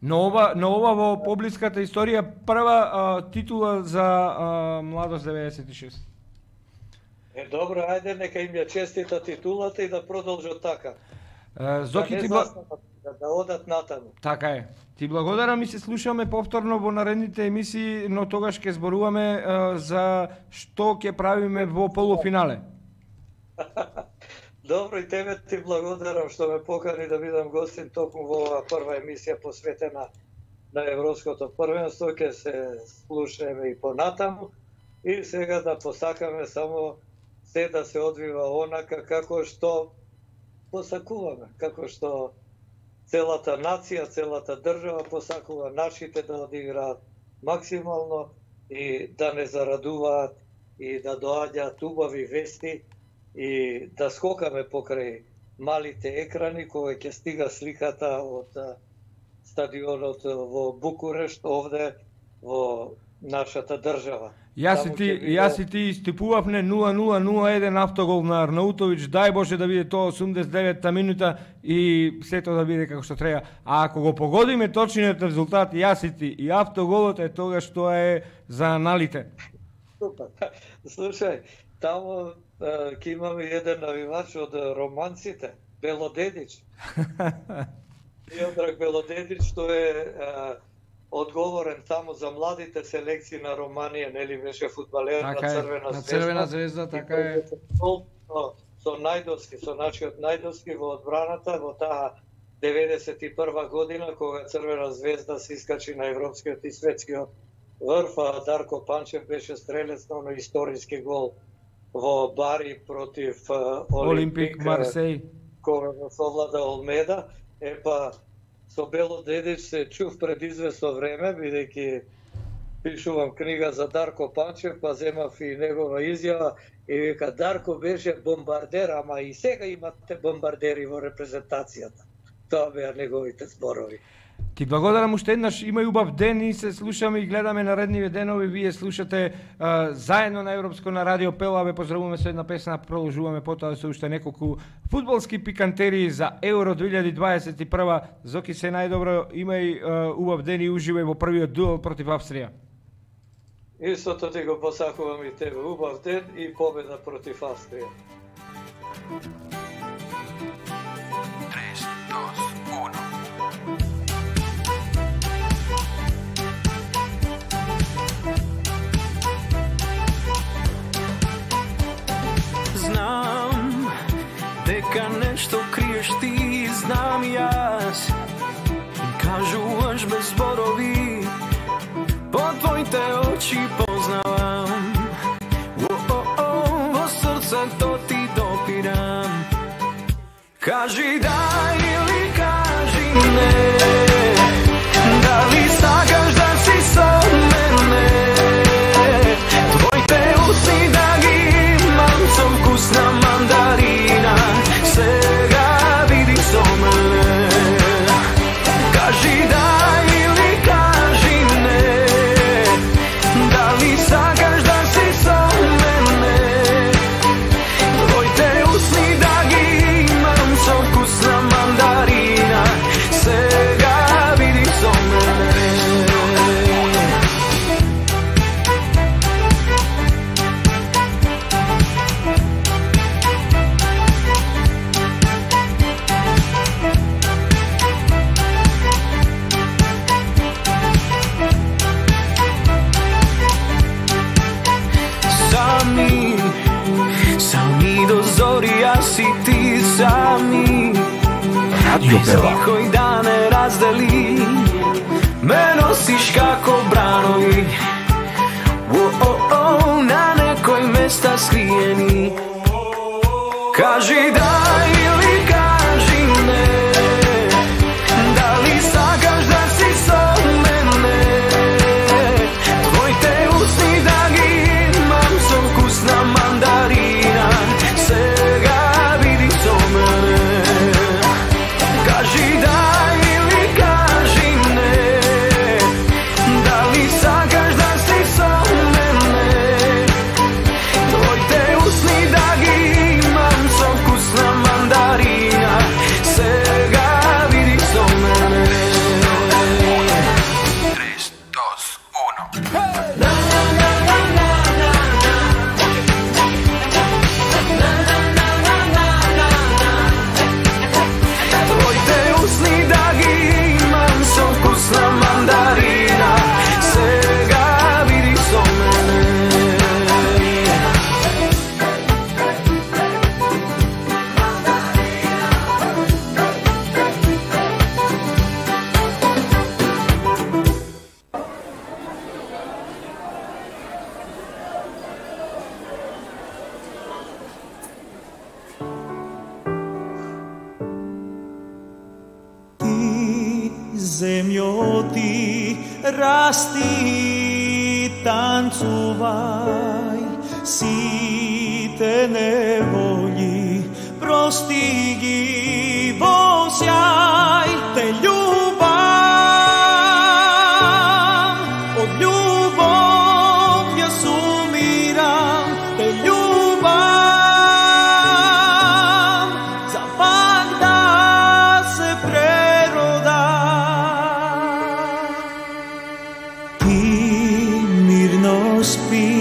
На ова во поблиската историја прва титула за Младост 96. Добро, ајде нека им ја честита титулата и да продолжат така. Зоки, да одат натаму. Така е. Ти благодарам и се слушаме повторно во наредните емисии, но тогаш ќе зборуваме за што ќе правиме во полуфинале. Добро, и тебе ти благодарам што ме покани да бидам гостин токму во оваа прва емисија посветена на Европското првенство. Ќе се слушаме и понатаму и сега да посакаме само се да се одвива онака како што посакуваме, како што целата нација, целата држава посакува нашите да одиграат максимално и да не зарадуваат и да доаѓаат убави вести и да скокаме покрај малите екрани кога ќе стига сликата од стадионот во Букурешт овде во нашата држава. Јас и ти истипувавме 0-0-0-1 автогол на Арнаутовиќ, дај Боже да биде тоа 89-та минута и сето да биде како што треба. А ако го погодиме точниот резултат, јас и ти и автоголот е тогаш тоа е за аналите. Слушај, таму ќе имаме еден навивач од романците, Белодедич. Миодраг Белодедич, што е одговорен таму за младите селекции на Романија, нели беше фудбалер на Црвена звезда, така е. Со Најдовски, со нашиот Најдовски во одбраната во таа 91 година кога Црвена звезда се искачи на европскиот и светскиот врв, а Дарко Панчев беше стрелец на историски гол во Бари против Олимпик Марсеј, кога го совлада Олмеда. Епа со Белодедич се чув пред известно време, бидејќи пишувам книга за Дарко Панчев, па земав и негова изјава и вика Дарко беше бомбардер, ама и сега имате бомбардери во репрезентацијата. Тоа беа неговите зборови. Ти благодарам уште еднаш, имај убав ден и се слушаме и гледаме наредниве денови. Вие слушате заедно на Европско на Радио Пела. Ве поздравуваме со една песна, продолжуваме потоа со уште неколку фудбалски пикантерии за Евро 2021. Зоки, се најдобро, имај убав ден и уживај во првиот дуел против Австрија. Истото ти го посакувам и тебе. Убав ден и победа против Австрија. 3, 2, 1. Знам дека нешто криеш ти, знам јас. Кажуваш без зборови, по твоите очи познавам. Во срцето ти допирам. Кажи да или кажи не, дали сакаш да си со мене. Твоите усни да ги имам со вкус на мандарина. Сега види со мене. Кажи да или кажи не, дали сакаш да си со мене. Твоите усни да ги имам со вкус на мандарина. Сега види со мене. Сами до зори, јас и ти сами. Радио Пела. Никој да не раздели, ме носиш како бранови. На некој места скриени. Кажи да или кажи не, дали сакаш да си со мене. Твоите усни да ги имам со вкус на мандарина. Сега види со мене. Кажи да или кажи не, дали сакаш да си со мене. Твоите усни да ги имам со вкус на Земјо ти расти, танцувај, сите неволји прости ги во сјај. Те љубам, од љубов ја сумирам, те љубам, за пак да се преродам. Ти мирно спи,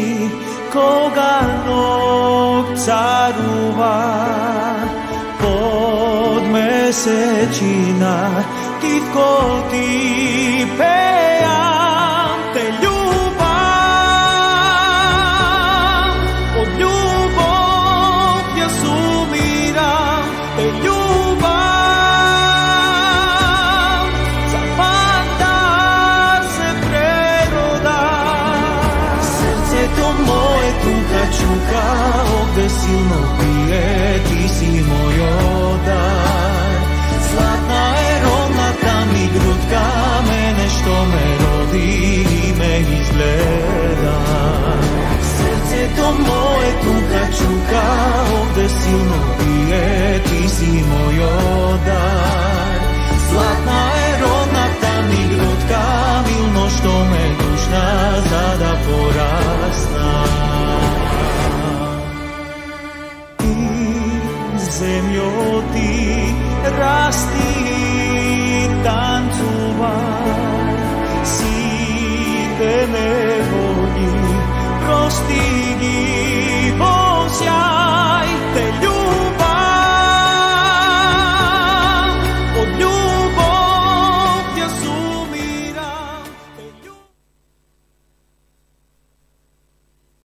кога ног царува, под месечина титко ти пеам. Те љубам, од љубов ја сумирам, те љубам, за пак да се преродам. Срцето мое тука чука, овде силно бие, ти си мојот дар. Златна е родната ми грудка, мене што ме роди и ме изгледа. Срцето мое тука чука, овде силно бие, ти си мојот дар. Златна е родната ми грудка, милно што ме душна, за да порасна. Земјо ти расти, танцувај, сите не